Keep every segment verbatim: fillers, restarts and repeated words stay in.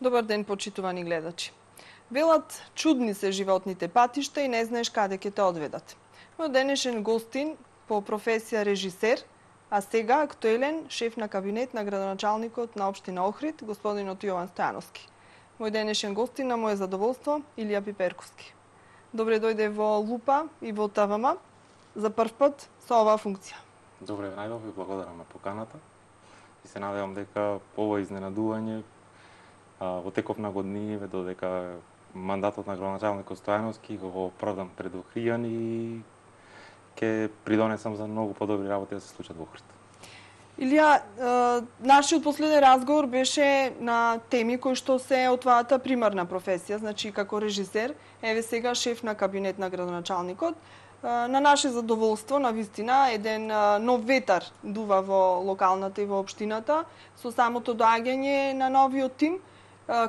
Добар ден, почитувани гледачи. Велат, чудни се животните патишта и не знаеш каде ќе те одведат. Мој денешен гостин по професија режисер, а сега актуелен шеф на кабинет на градоначалникот на општина Охрид, господинот Јован Стојановски. Мој денешен гостин на моје задоволство, Илија Пиперковски. Добре дојде во Лупа и во ТВМ за прв пат со оваа функција. Добре, најдов и благодарам на поканата. И се надевам дека ова изненадување во теков на години додека мандатот на градоначалникот Стојановски го продам пред Охријани и ќе придонесам за многу подобри работи да се случат во Охрид. Илија, нашиот последен разговор беше на теми кои што се од твојата примарна професија, значи како режисер, еве сега шеф на кабинет на градоначалникот. На наше задоволство, на вистина, еден нов ветар дува во локалната и во општината со самото доаѓање на новиот тим.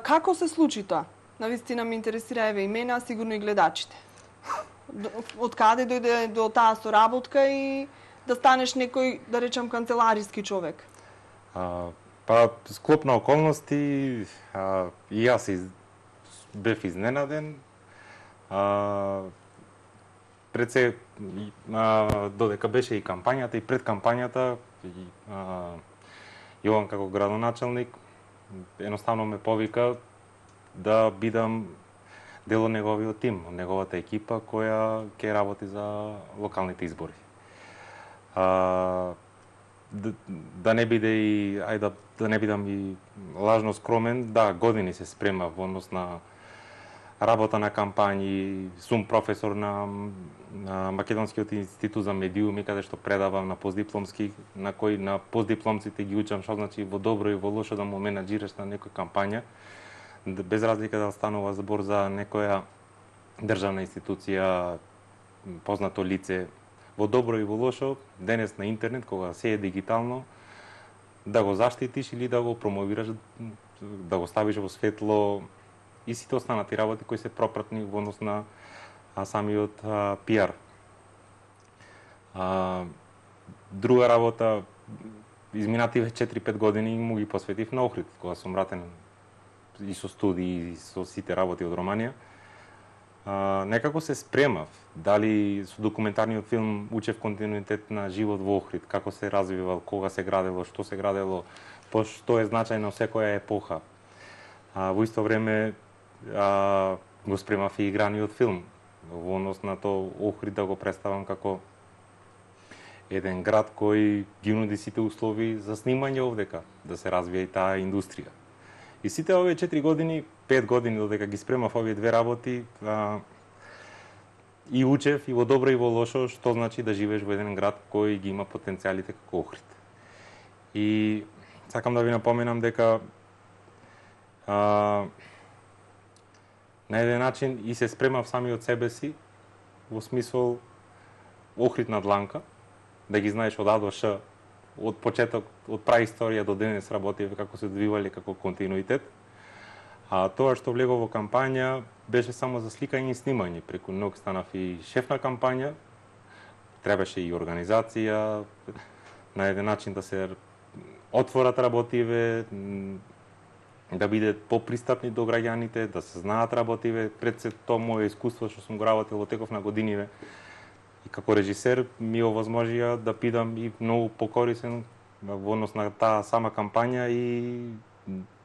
Како се случи тоа? На вистина ме интересира еве имена, сигурно и гледачите. Од каде дојде до таа соработка и да станеш некој, да речам, канцелариски човек? А, па, склоп на околности, а, и јас из... бев изненаден. А, пред се, а, додека беше и кампањата, и пред кампањата, и, а, Јован како градоначалник, едноставно ме повика да бидам дел од неговиот тим, од неговата екипа која ќе работи за локалните избори. А, да, да не биде и ајде да, да не бидам и лажно скромен, да, години се спрема во однос на работа на кампањи, сум професор на, на Македонскиот институт за медиуми, каде што предавам на постдипломски, на кои на постдипломците ги учам што значи во добро и во лошо да му менаџираш на некоја кампања, без разлика да станува збор за некоја државна институција, познато лице, во добро и во лошо, денес на интернет, кога се е дигитално, да го заштитиш или да го промовираш, да го ставиш во светло, и сите останати работи кои се пропратни во однос на а, самиот а, пиар. А, друга работа, изминативе четири-пет години му ги посветив на Охрид, кога сум вратен и со студии, и со сите работи од Романија. А, некако се спремав, дали со документарниот филм учев континуитет на живот во Охрид, како се развивал, кога се градело, што се градело, по што е значајно секоја епоха. А, во исто време а, го спремав и играниот филм, во однос на тоа Охрид да го представам како еден град кој ги нуди сите услови за снимање овдека, да се развие и таа индустрија. И сите овие четири години, пет години додека ги спремав овие две работи, а, и учев и во добро и во лошо што значи да живееш во еден град кој ги има потенцијалите како Охрид. И сакам да ви напоменам дека а, на еден начин и се спремав сами од себе си, во смисол Охрид на дланка, да ги знаеш од А до Ш, од почеток, од праисторија до денес работиве како се одвивале како континуитет. А тоа што влего во кампања беше само за сликање и снимање. Преку ног станав и шеф на кампања, требаше и организација, на еден начин да се отворат работиве, да бидат попристапни до граѓаните, да се знаат работиве. Пред се тоа моје искуство што сум го работил во теков на годиниве и како режисер ми овозможија да бидам и многу покорисен во однос на таа сама кампања и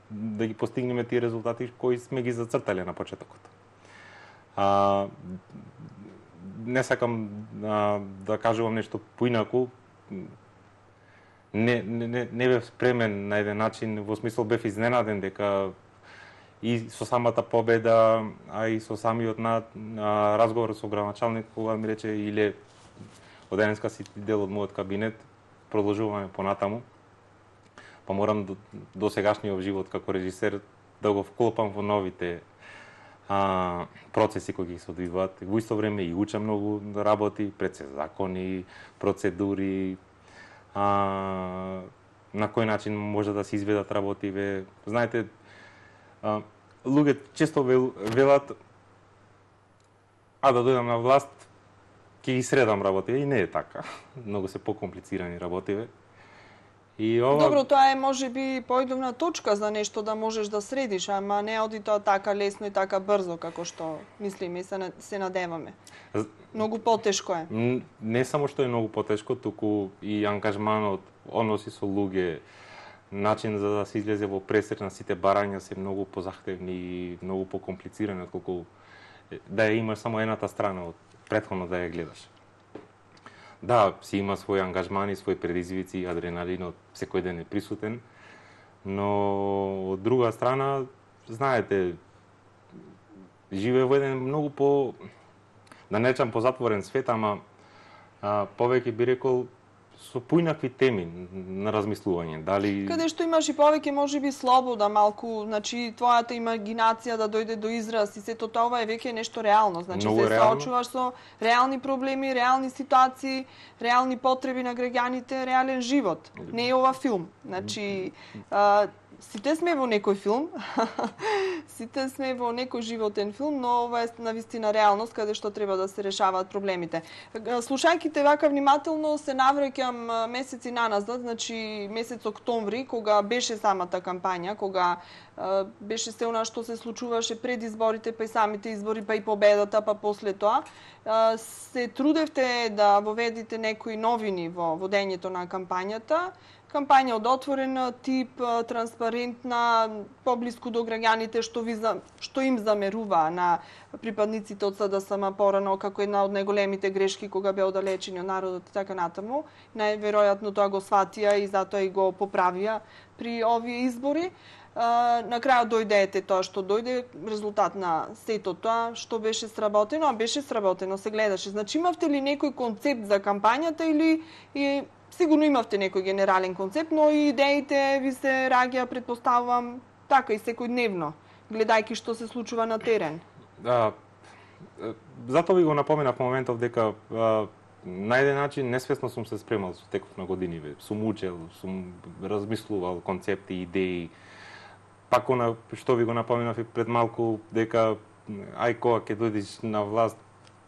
да ги постигнеме тие резултати кои сме ги зацртале на почетокот. А, не сакам а, да кажувам нешто поинаку. Не, не, не бев спремен на еден начин, во смисол бев изненаден дека и со самата победа, а и со самиот на, на разговор со градоначалник, кога ми рече Иле, од денеска си дел од мојот кабинет, продолжуваме понатаму, па морам до, до сегашниот живот како режисер да го вклопам во новите а, процеси кои ги се одвиваат. Во исто време и учам многу работи, пред се закони, процедури, а, на кој начин може да се изведат работиве. Знаете, а, луѓе често вел, велат а да дојдам на власт ќе ги средам работиве, и не е така. Многу се покомплицирани работиве. И ова... Добро, тоа е можеби поидовна точка за нешто да можеш да средиш, ама не оди тоа така лесно и така брзо како што мислиме и се, се надеваме. Многу потешко е. Не само што е многу потешко, туку и ангажманот, односи со луѓе, начин за да се излезе во пресрет на сите барања се многу позахтевни и многу покомплицирани отколку да ја имаш само едната страна од претходно да ја гледаш. Да, си има своји ангажмани, своји предизвици, адреналинот секој ден е присутен, но од друга страна, знаете, живее во еден многу по, да не речам позатворен свет, ама а, повеќе би рекол со поинакви теми на размислување. Дали Каде што имаш и повеќе можеби слобода малку, значи твојата имагинација да дојде до израз и сето тоа ова е веќе нешто реално, значи Многу се реално. соочуваш со реални проблеми, реални ситуации, реални потреби на граѓаните, реален живот. Не е ова филм. Значи а, сите сме во некој филм, сите сме во некој животен филм, но ова е навистина реалност каде што треба да се решаваат проблемите. Слушајќи те вака внимателно се навраќам месеци наназад, значи месец октомври, кога беше самата кампања, кога а, беше се она што се случуваше пред изборите, па и самите избори, па и победата, па после тоа, а, се трудевте да воведите некои новини во водењето на кампањата. Кампања од отворен тип, транспарентна, поблиску до граѓаните, што ви за, што им замерува на припадниците од СДСМ порано како една од најголемите грешки кога беа оддалечени од народот и така натаму. Најверојатно тоа го сватија и затоа и го поправија при овие избори. На крајот дојде тоа што дојде, резултат на сето тоа што беше сработено, а беше сработено, се гледаше. Значи имавте ли некој концепт за кампањата или и сигурно имавте некој генерален концепт, но и идеите ви се раѓа, предпоставувам, така и секојдневно, гледајќи што се случува на терен. Да, затоа ви го напоменав моментов дека а, на еден начин несвесно сум се спремал со текот на години, бе. Сум учел, сум размислувал концепти, идеи. Пак она што ви го напоменав и пред малку дека ај кога ќе дојдеш на власт,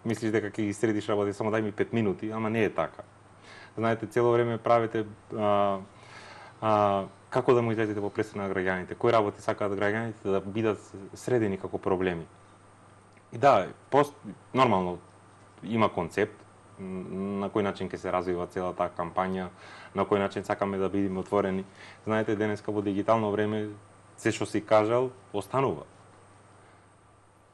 мислиш дека ќе ги средиш работи, само дај ми пет минути, ама не е така. Знаете, цело време правите а, а, како да му излезете во пресрет на граѓаните, кои работи сакаат граѓаните да бидат средени како проблеми. И да, пост, нормално има концепт на кој начин ќе се развива целата кампања, на кој начин сакаме да бидеме отворени. Знаете, денеска во дигитално време се што си кажал останува.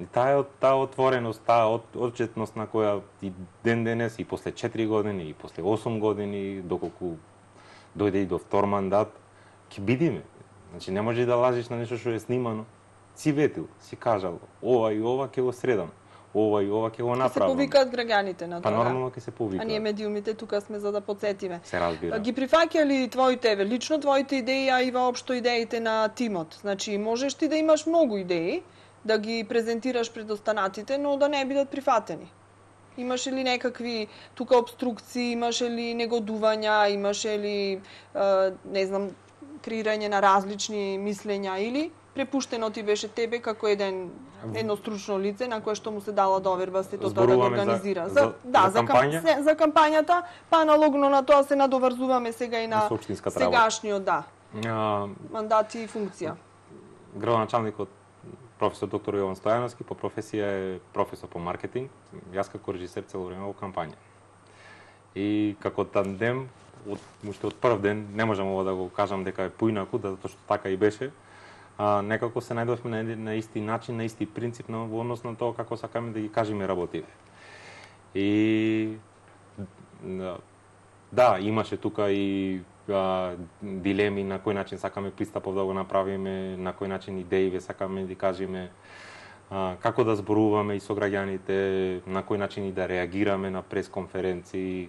И таа таа отвореност, таа отчетност на која и ден денес и после четири години и после осум години, доколку дојде и до втор мандат, ќе бидиме. Значи не можеш да лажиш на нешто што е снимано. Си ветил, си кажал, ова и ова ќе го средам, ова и ова ќе го направам. Се повикаат граѓаните на тоа. Па нормално ќе се повикаат. А ние медиумите тука сме за да потсетиме. Се разбира. Ги прифаќа ли твоите, лично твоите идеи, а и воопшто идеите на тимот? Значи можеш ти да имаш многу идеи, да ги презентираш пред останатите, но да не бидат прифатени. Имаше ли некакви тука обструкции, имаше ли негодувања, имаше ли, не знам, креирање на различни мислења или препуштено ти беше тебе како еден едно стручно лице на кое што му се дала доверба сето тоа да го организира. За, за, да, за, кампања? за, за кампањата, па аналогно на тоа се надоврзуваме сега и на сегашниот, да. А, мандат и функција. Градоначалникот професор доктор Јован Стојановски по професија е професор по маркетинг, јас како режисер цело време во кампања. И како тандем, од, уште од прв ден, не можам ова да го кажам дека е поинаку, да, затоа што така и беше, а, некако се најдовме на, на исти начин, на исти принцип на во однос на тоа како сакаме да ги кажеме работиве. И да, имаше тука и а, дилеми на кој начин сакаме пристапов да го направиме, на кој начин идеи сакаме да кажеме, а, како да зборуваме и со граѓаните, на кој начин и да реагираме на пресконференции.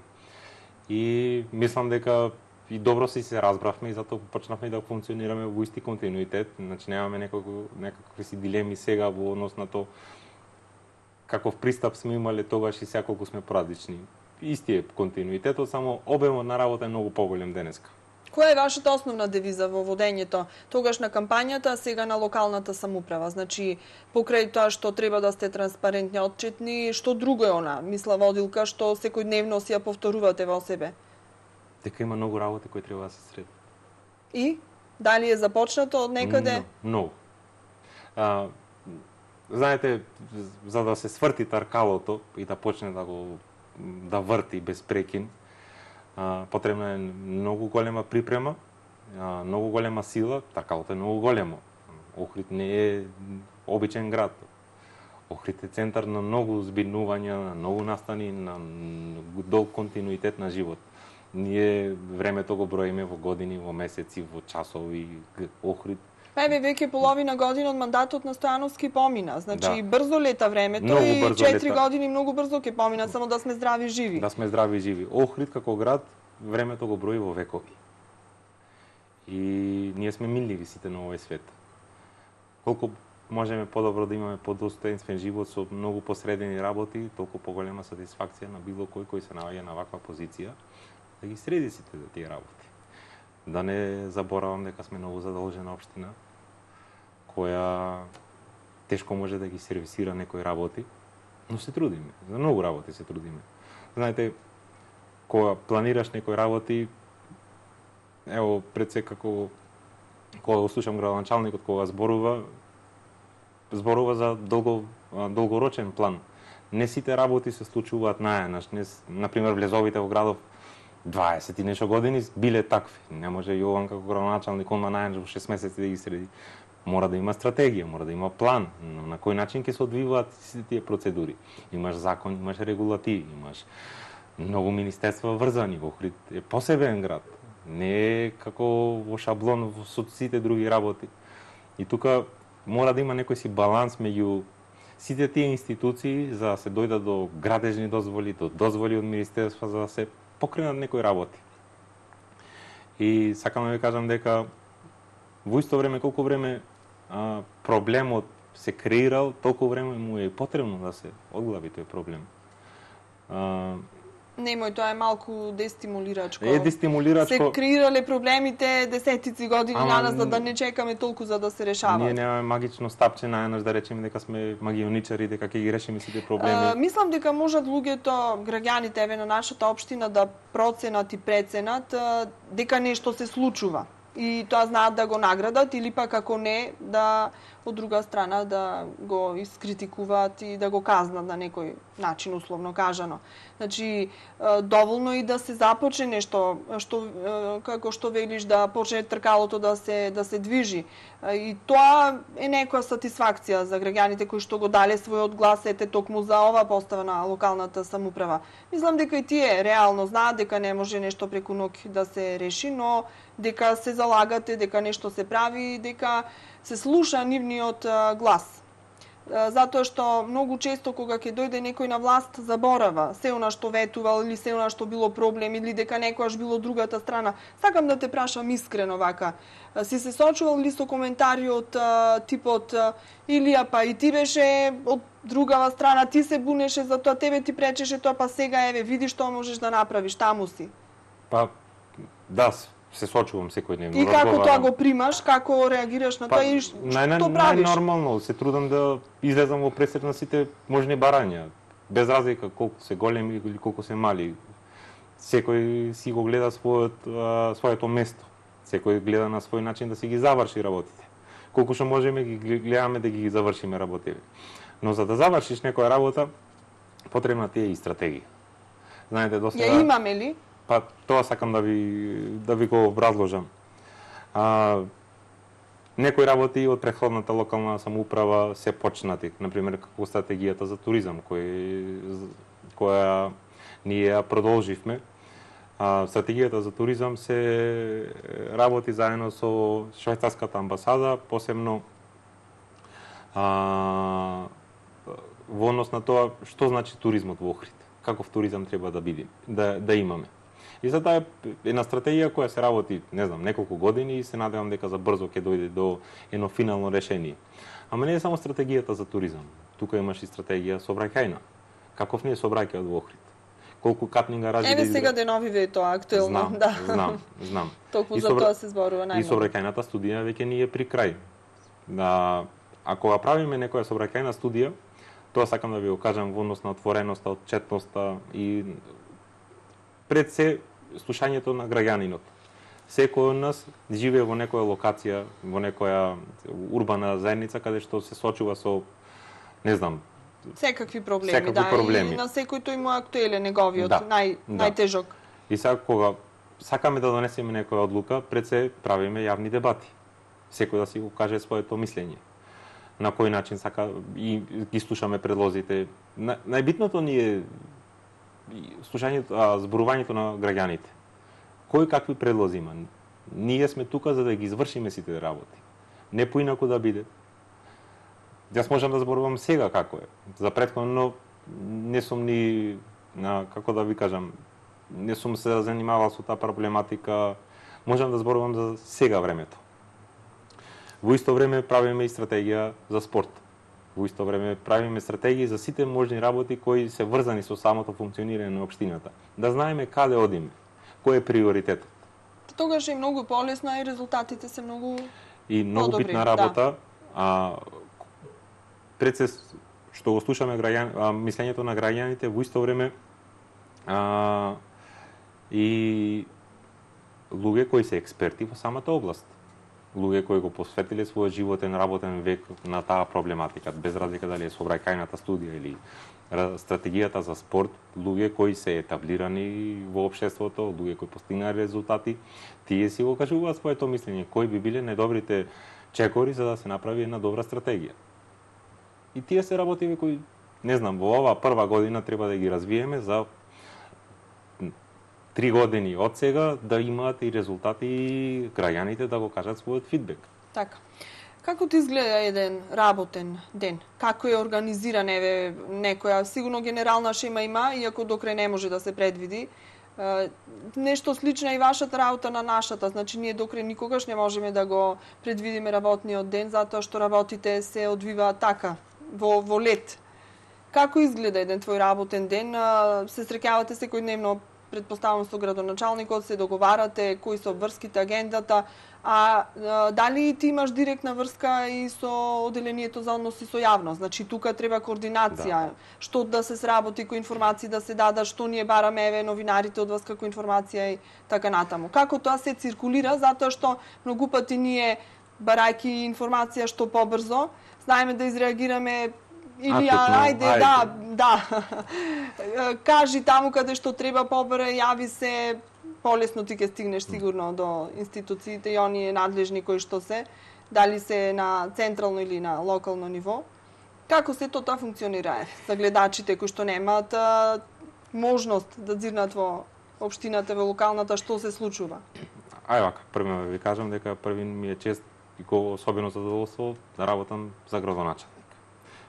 И мислам дека и добро си се разбравме и затоа почнавме да функционираме во исти континуитет. Значи немаме некако, некакви си дилеми сега во однос на тоа каков пристап сме имале тогаш и сега колку сме поразлични. Исти е континуитетот, само обемот на работа е многу поголем денеска. Која е вашата основна девиза во водењето тогаш на кампањата, а сега на локалната самоуправа? Значи, покрај тоа што треба да сте транспарентни, отчетни, што друго е она, мисла водилка, што секојдневно си ја повторувате во себе? Дека има многу работи кои треба да се средат. И дали е започнато од некаде? Многу. А, знаете, за да се сврти таркалото и да почне да го да врти без прекин, а, потребна е многу голема припрема, а, многу голема сила, таркалото е многу големо. Охрид не е обичен град. Охрид е центар на многу збиднувања, на многу настани, на долг континуитет на живот. Ние времето го броиме во години, во месеци, во часови. Охрид Па еве веќе половина година од мандатот на Стојановски помина. Значи Да. брзо лета времето Многу и брзо четири лета. години многу брзо ќе поминат, само да сме здрави и живи. Да сме здрави и живи. Охрид како град, времето го брои во векови. И ние сме милливи сите на овој свет. Колку можеме подобро да имаме подостоенствен живот со многу посредени работи, толку поголема сатисфакција на било кој кој се наоѓа на ваква позиција, да ги среди сите тие работи. Да не заборавам дека сме многу задолжена општина, која тешко може да ги сервисира некои работи, но се трудиме. За многу работи се трудиме. Знаете, кога планираш некои работи, ево, пред се како кога го слушам градоначалникот кога зборува, зборува за долго, долгорочен план. Не сите работи се случуваат наеднаш. Не, например, влезовите во градов дваесет и нешто години биле такви. Не може Јован како градоначалник онма наеднаш во шест месеци да ги среди. Мора да има стратегија, мора да има план, на кој начин ќе се одвиваат сите тие процедури. Имаш закон, имаш регулативи, имаш многу министерства врзани. Охрид е посебен град. Не е како во шаблон со сите други работи. И тука мора да има некој си баланс меѓу сите тие институции за да се дојдат до градежни дозволи, до дозволи од министерства за да се покренат некои работи. И сакам да ви кажам дека во исто време колку време а, проблемот се креирал, толку време му е потребно да се одглави тој проблем. А, Немој, тоа е малку дестимулирачко. Е дестимулирачко. Се креирале проблемите десетици години Ама, наназад, за да не чекаме толку за да се решаваат. Ние немаме магично стапче наеднаш да речеме дека сме магионичари, дека ќе ги решиме сите проблеми. А, мислам дека можат луѓето, граѓаните еве на нашата општина да проценат и преценат а, дека нешто се случува. И тоа знаат да го наградат или пак ако не, да од друга страна да го искритикуваат и да го казнат на некој начин, условно кажано. Значи, доволно и да се започне нешто, што, како што велиш, да почне тркалото да се, да се движи. И тоа е некоја сатисфакција за граѓаните кои што го дале својот глас, ете токму за ова постава на локалната самоуправа. Мислам дека и тие реално знаат дека не може нешто преку ноќ да се реши, но дека се залагате, дека нешто се прави, дека се слуша нивниот глас. Затоа што многу често кога ќе дојде некој на власт заборава се она што ветувал или се она што било проблем или дека некојаш било другата страна. Сакам да те прашам искрено вака. Си се сочувал ли со коментари од типот Илија, па и ти беше од другава страна, ти се бунеше за тоа, тебе ти пречеше тоа, па сега еве видиш што можеш да направиш, таму си. Па да, се сочувам секојдневно. И како тоа го примаш, како реагираш на тоа и што правиш? Најнормално, се трудам да излезам во пресек на сите можни барања, без разлика колку се големи или колку се мали. Секој си го гледа својот, а, своето место. Секој гледа на свој начин да си ги заврши работите. Колку што можеме ги гледаме да ги завршиме работите. Но за да завршиш некоја работа, потребна ти е и стратегија. Знаете, досега Ја имаме ли? Па тоа сакам да ви да ви го образложам. А, некои работи од претходната локална самоуправа се почнати, например како стратегијата за туризам кој која ние ја продолживме. А, стратегијата за туризам се работи заедно со швајцарската амбасада, посебно а, во однос на тоа што значи туризмот во Охрид, каков туризам треба да биде, да да имаме. И за таа е една стратегија која се работи, не знам, неколку години и се надевам дека за брзо ќе дојде до едно финално решение. Ама не е само стратегијата за туризам. Тука имаш и стратегија сообраќајна. Каков не е сообраќајот во Охрид? Колку катни гаражи Еве да сега деновиве е тоа актуелно, знам, да. Знам, знам. Толку И за собра... тоа се зборува најмногу. И сообраќајната студија веќе ни е при крај. Да, ако ја правиме некоја сообраќајна студија, тоа сакам да ви го кажам во однос на отвореноста, отчетноста и пред се слушањето на граѓанинот. Секој од нас живее во некоја локација, во некоја урбана заедница каде што се сочува со, не знам, секакви проблеми, секакви да, проблеми. И на секој тој му е актуелен неговиот Да, нај да. најтежок. И сега кога сакаме да донесеме некоја одлука, пред се правиме јавни дебати. Секој да си го каже своето мислење. На кој начин сака и ги слушаме предлозите. На, најбитното ни е слушањето, а, зборувањето на граѓаните. Кој какви предлози има? Ние сме тука за да ги извршиме сите работи. Не поинаку да биде. Јас можам да зборувам сега како е. За претходно не сум ни, на, како да ви кажам, не сум се занимавал со таа проблематика. Можам да зборувам за сега времето. Во исто време правиме и стратегија за спорт. Во исто време правиме стратегии за сите можни работи кои се врзани со самото функционирање на општината. Да знаеме каде одиме, кој е приоритетот. Тогаш е многу полесно и резултатите се многу И многу подобри, битна работа, да. а пред се што го слушаме граѓан, а, мислењето на граѓаните, во исто време а, и луѓе кои се експерти во самата област. Луѓе кои го посветиле својот животен работен век на таа проблематика, без разлика дали е сообраќајната студија или стратегијата за спорт, луѓе кои се етаблирани во општеството, луѓе кои постигнале резултати, тие си го кажуваат своето мислење, кои би биле најдобрите чекори за да се направи една добра стратегија. И тие се работиви кои, не знам, во оваа прва година треба да ги развиеме за три години од сега да имаат и резултати и граѓаните да го кажат својот фидбек. Така. Како ти изгледа еден работен ден? Како е организиран, еве, некоја, сигурно генерална шема има, иако докрај не може да се предвиди. Е, нешто слично и вашата работа на нашата, значи ние докрај никогаш не можеме да го предвидиме работниот ден, затоа што работите се одвиваат така, во, во лет. Како изгледа еден твој работен ден? Се среќавате секојдневно, предпоставам, со градоначалникот, се договарате кои се обврските, агендата, а, а дали ти имаш директна врска и со оделението за односи со јавност? Значи тука треба координација, да. Што да се сработи, кои информации да се дадат, што ние бараме еве новинарите од вас како информација и така натаму. Како тоа се циркулира, затоа што многу пати ние барајки информација што побрзо, знаеме да изреагираме или а, ајде, ајде, да, да. Кажи таму каде што треба побаре, јави се, полесно ти ќе стигнеш сигурно до институциите и оние надлежни кои што се, дали се на централно или на локално ниво. Како се тоа функционира за гледачите кои што немаат а, можност да дзирнат во општината, во локалната, што се случува? Ај вака, прво ви кажам дека први ми е чест и го особено задоволство да работам за градоначалник.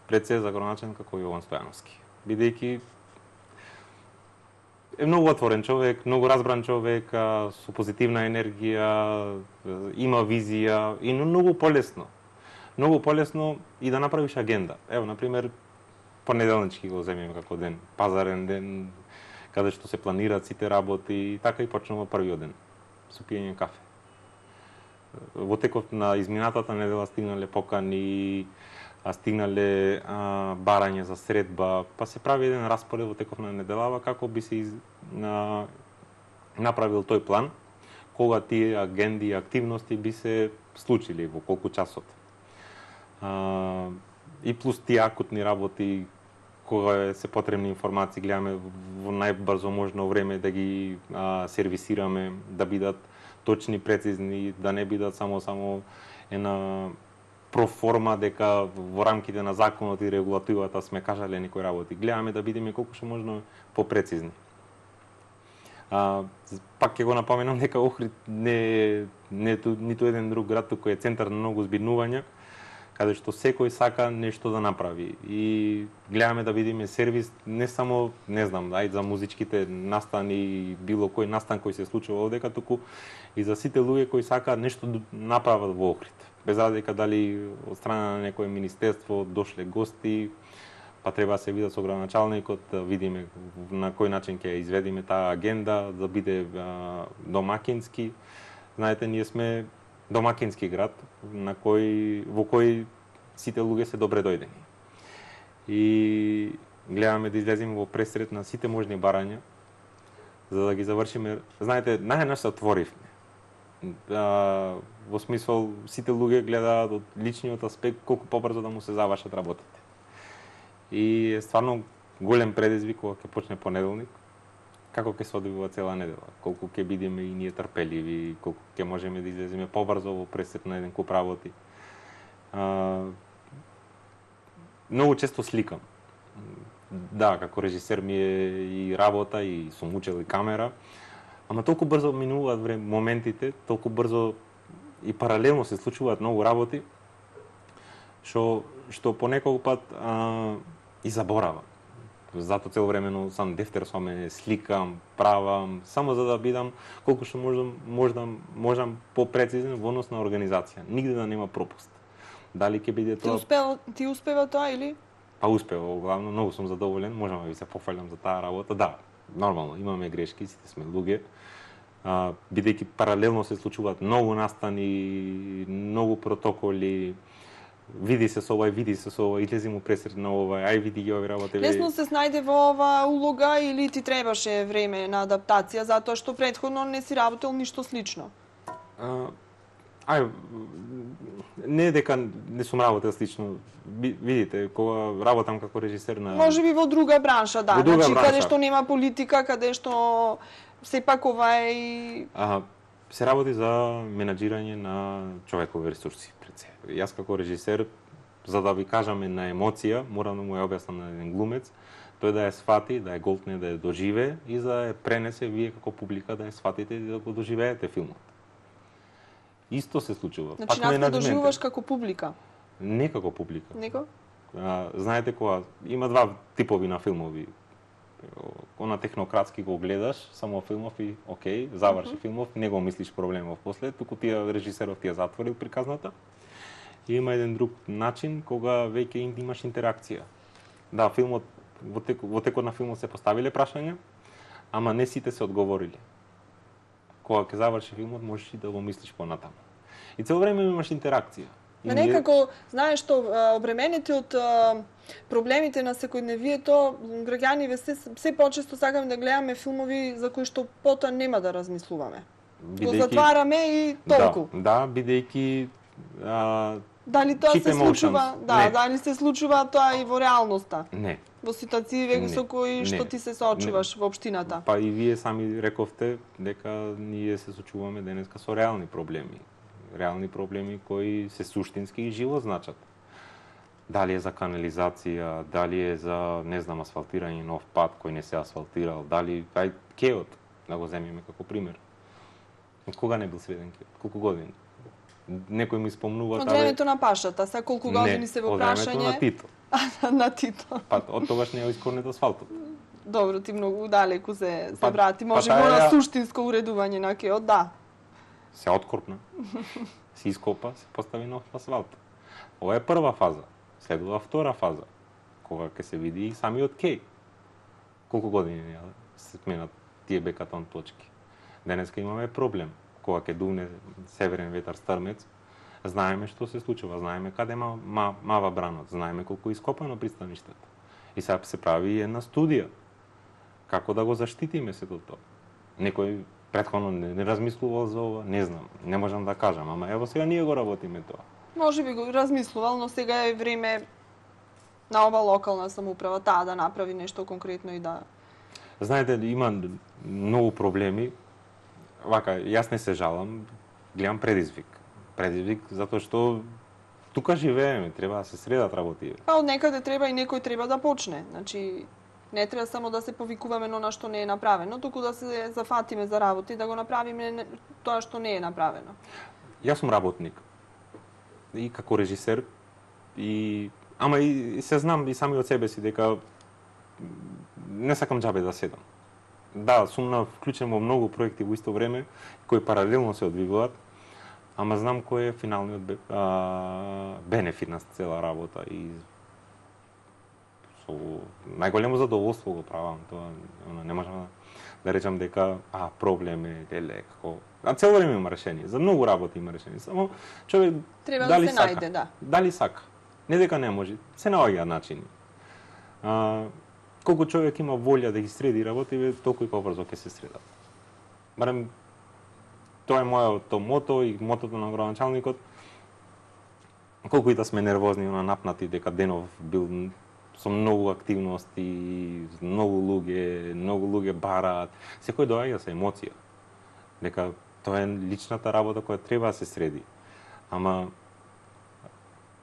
Пред се за градоначалник како Јован Стојановски. Бидејќи е многу отворен човек, многу разбран човек, со позитивна енергија, има визија и многу полесно. Многу полесно и да направиш агенда. Ево, например, понеделнички го земеме како ден, пазарен ден, каде што се планираат сите работи, и така и почнува првиот ден, со пиење кафе. Во текот на изминатата недела стигнале покани, стигнале а, барање за средба, па се прави еден распоред во текот на неделава како би се из, на, направил тој план, кога тие агенди и активности би се случили, во колку часот. А, и плюс тие акутни работи, кога се потребни информации, гледаме во најбрзо можно време да ги а, сервисираме, да бидат точни, прецизни, да не бидат само само една проформа дека во рамките на законот и регулативата сме кажале некои работи. Гледаме да бидеме колку што можно попрецизни. А, пак ќе го напоменам дека Охрид не е ниту еден друг град кој е центар на многу збирнувања, каде што секој сака нешто да направи. И гледаме да видиме сервис не само, не знам, ајде за музичките настани, било кој настан кој се случува овдека, туку и за сите луѓе кои сакаат нешто да направат во Охрид. Без разлика дали од страна на некое министерство дошле гости, па треба да се видат со градоначалникот, да видиме на кој начин ќе изведиме таа агенда, да биде а, домакински. Знаете, ние сме домакински град на кој во кој сите луѓе се добре дојдени. И гледаме да излеземе во пресрет на сите можни барања за да ги завршиме. Знаете, најнаш се отворивме. А, во смисол, сите луѓе гледаат од личниот аспект колку побрзо да му се завршат работите. И е стварно голем предизвик кога ќе почне понеделник, како ќе се одвива цела недела, колку ќе бидеме и ние трпеливи, колку ќе можеме да излеземе побрзо во пресек на еден куп работи. А, многу често сликам. Да, како режисер ми е и работа, и сум учел и камера, ама толку брзо минуваат време, моментите, толку брзо и паралелно се случуваат многу работи, што што понекогу пат а, и заборавам. Затоа цело времено сам дефтер со мене, сликам, правам, само за да бидам колку што можам, можам, можам попрецизен во однос на организација. Нигде да нема пропуст. Дали ќе биде тоа... Ти успева, ти успева тоа или? Па успева, главно, многу сум задоволен, можам да ви се пофалам за таа работа. Да, нормално, имаме грешки, сите сме луѓе. А, бидејќи паралелно се случуваат многу настани, многу протоколи, види се со овај, види се со овај, излези му пресред на овај, ај види ги овие работи. Лесно се снајде во оваа улога или ти требаше време на адаптација, затоа што претходно не си работел ништо слично? А, ај, не дека не сум работел слично. Видите, кога работам како режисер на... Може би во друга бранша, да. Во друга значи, бранша. Каде што нема политика, каде што сепак овај... А, се работи за менаџирање на човекови ресурси пред се. Јас како режисер, за да ви кажаме на емоција, морам да му ја објаснам на еден глумец, тој да ја сфати, да ја голтне, да ја доживее и за да ја пренесе вие како публика да ја сфатите и да го доживеете филмот. Исто се случува. Значи, нас не доживуваш како публика? Не како публика. Него? А, знаете кога има два типови на филмови. Она технократски го гледаш, само филмов и окей, заврши uh -huh. филмов, не го мислиш проблемов после, туку тие режисеров ти ја затворил приказната. И има еден друг начин кога веќе имаш интеракција. Да, филмот во, тек, во текот на филмот се поставиле прашања, ама не сите се одговориле. Кога ќе заврши филмот, можеш и да го мислиш понатаму. И цело време имаш интеракција. Ма некако, знаеш што, обременети од проблемите на секојдневието, граѓаниве се, се почесто сакаме да гледаме филмови за кои што потоа нема да размислуваме. Бидејќи... Го затвараме и толку. Да, да бидејќи а, дали тоа се случува, да, не. дали се случува тоа и во реалноста? Не. Во ситуации со кои што ти се соочуваш во општината? Па и вие сами рековте дека ние се соочуваме денеска со реални проблеми. Реални проблеми кои се суштински и живо значат. Дали е за канализација, дали е за, не знам, асфалтирање нов пат кој не се асфалтирал, дали ај кеот, да го земеме како пример. Кога не бил среден кеот? Колку години? Некој ми спомнува... Од времето на пашата, са колку години се во прашање? Не, од времето на Тито. На Тито. Па, од тогаш не е искорнет асфалтот. Добро, ти многу далеку се, се па, врати. Може па, мора ја... суштинско уредување на кеот, да. Се откорпна, се ископа, се постави нов асфалт. Ова е прва фаза. Следува втора фаза, кога ќе се види и самиот кеј. Колку години се сменат тие бекатон точки. Денеска имаме проблем. Кога ќе дувне северен ветар стрмец, знаеме што се случува, знаеме каде ма, ма, мава бранот, знаеме колку е ископано пристаништето. И сега се прави и една студија. Како да го заштитиме сето тоа? Некој претходно не, не размислувал за ова, не знам, не можам да кажам, ама ево сега ние го работиме тоа. Може би го размислувал, но сега е време на ова локална самоуправа таа да направи нешто конкретно и да... Знаете, има многу проблеми. Вака, јас не се жалам, гледам предизвик. Предизвик затоа што тука живееме, треба да се средат работи. Па од некаде треба и некој треба да почне. Значи, не треба само да се повикуваме на она што не е направено, туку да се зафатиме за работи, да го направиме тоа што не е направено. Јас сум работник. И како режисер, и ама и се знам и сами од себе си дека не сакам џабе да седам. Да, сум на вклучен во многу проекти во исто време, кои паралелно се одвиваат, ама знам кој е финалниот а, бенефит на цела работа и со најголемо задоволство го правам тоа. Не можам да речам дека а проблем е деле како а цело време има решение. За многу работи има решение. Само човек треба дали да се сака, најде, да. Дали сака. Не дека не може, се наоѓаат начини. А, колку човек има волја да ги среди работи, толку и побрзо ќе се средат. Барем тоа е моето мото и мотото на градоначалникот. Колку и да сме нервозни, на напнати дека денов бил со многу активности, многу луѓе, многу луѓе бараат, секој доаѓа со емоција. Дека тоа е личната работа која треба да се среди. Ама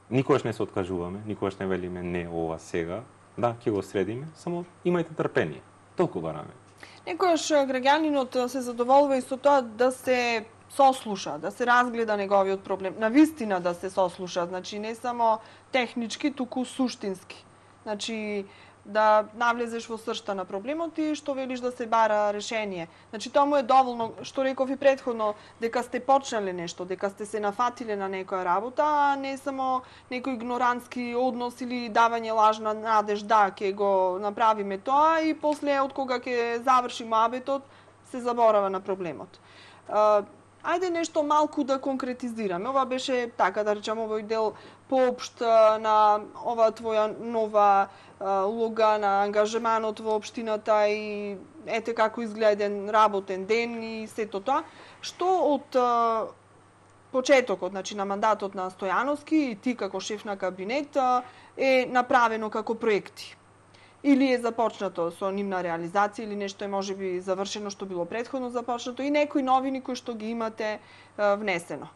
никогаш не се откажуваме, никогаш не велиме не ова сега. Да, ќе го средиме, само имајте трпение. Толку бараме. Некојаш граѓанинот се задоволува и со тоа да се сослуша, да се разгледа неговиот проблем, на вистина да се сослуша, значи не само технички, туку суштински. Значи да навлезеш во сршта на проблемот и што велиш да се бара решение. Значи тоа му е доволно, што реков и претходно, дека сте почнале нешто, дека сте се нафатиле на некоја работа, а не само некој игнорантски однос или давање лажна надеж, да, ќе го направиме тоа и после од кога ќе заврши муабетот се заборава на проблемот. Ајде нешто малку да конкретизираме. Ова беше, така да речам, овој дел поопшт на ова твоја нова улога, на ангажеманот во општината и ете како изгледа работен ден и сето тоа. Што од почетокот, значи на мандатот на Стојановски и ти како шеф на кабинет е направено како проекти? Или е започнато со нивна реализација, или нешто е можеби завршено што било претходно започнато и некои новини кои што ги имате внесено.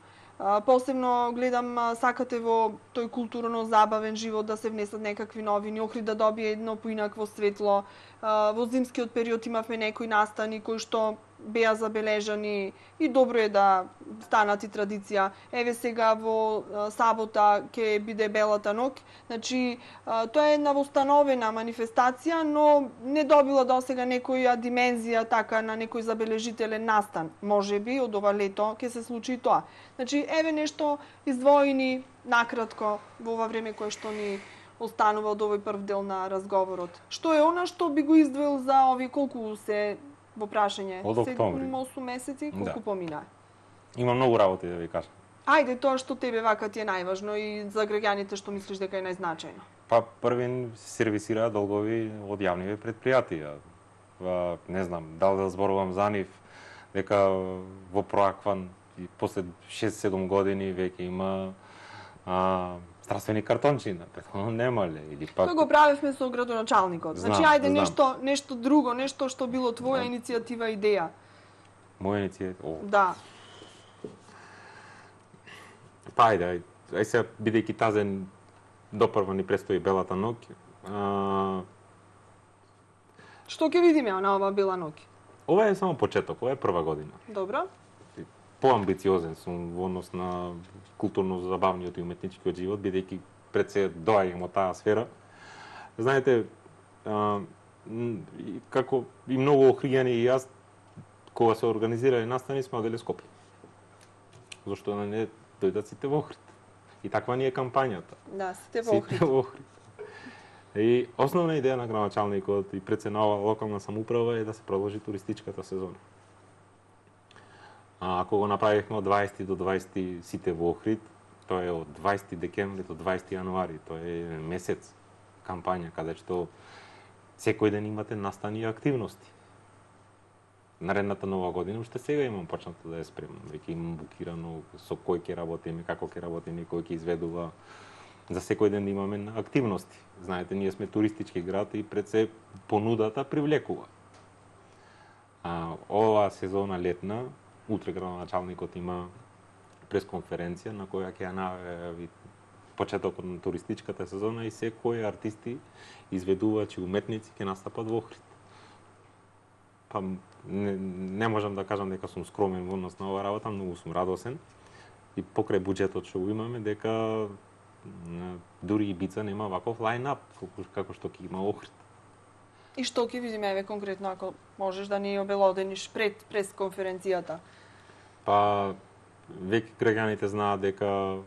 Посебно гледам сакате во тој културно-забавен живот да се внесат некакви новини, Охрид да добие едно поинакво светло. Во зимскиот период имавме некои настани кои што беа забележани и добро е да станат и традиција. Еве сега во сабота ќе биде Белата ноќ. Значи, тоа е една востановена манифестација, но не добила досега некоја димензија така на некој забележителен настан. Можеби од ова лето ќе се случи и тоа. Значи, еве нешто издвоени накратко во ова време кое што ни останува од овој прв дел на разговорот. Што е она што би го издвоил за овие колку се во прашање? Од октомври. седум-осум месеци, колку Да. помина? Има многу работи да ви кажам. Ајде тоа што тебе вака ти е најважно и за граѓаните што мислиш дека е најзначајно. Па првин се сервисираат долгови од јавни предпријатија. Па, не знам, дали да зборувам за нив, дека во Проакван и после шест-седум години веќе има а, здравствени картончина, претходно немале или пак. Тоа го правевме со градоначалникот. Значи Знам, ајде знам. нешто нешто друго, нешто што било твоја иницијатива, идеја. Моја иницијатива. О, Да. па ајде, ајде, ајде сега бидејќи тазен допрва ни престои Белата ноќ. А, Што ќе видиме на ова Бела ноќ? ова е само почеток, ова е прва година. Добро? Поамбициозен сум во однос на културно-забавниот и уметничкиот живот, бидејќи пред се доаѓам од таа сфера. Знаете, а, и како и многу охријани и јас, кога се организирале настани, сме оделе Скопје. Зошто да не дојдат сите во Охрид? И таква ни е кампањата. Да, сите во Охрид. Сите во Охрид. И основна идеја на градоначалникот и пред се на ова локална самоуправа е да се продолжи туристичката сезона. А, ако го направивме од дваесети до дваесети сите во Охрид, тоа е од дваесети декември до дваесети јануари, тоа е месец кампања каде што секој ден имате настани и активности. Наредната нова година уште сега имам почнато да ја спремам, веќе имам букирано со кој ќе работиме, како ќе работиме, кој ќе изведува. За секој ден да имаме активности. Знаете, ние сме туристички град и пред се понудата привлекува. А, ова сезона летна, утре градоначалникот има пресконференција на која ќе ја најави почетокот на туристичката сезона и секои артисти, изведувачи, уметници ќе настапат во Охрид. Па не, не можам да кажам дека сум скромен во однос на оваа работа, многу сум радосен и покрај буџетот што го имаме дека дури и Бица нема ваков лајнап како што ќе има Охрид. И што ќе видиме еве конкретно ако можеш да ни обелодениш пред пресконференцијата? Па веќе граѓаните знаат дека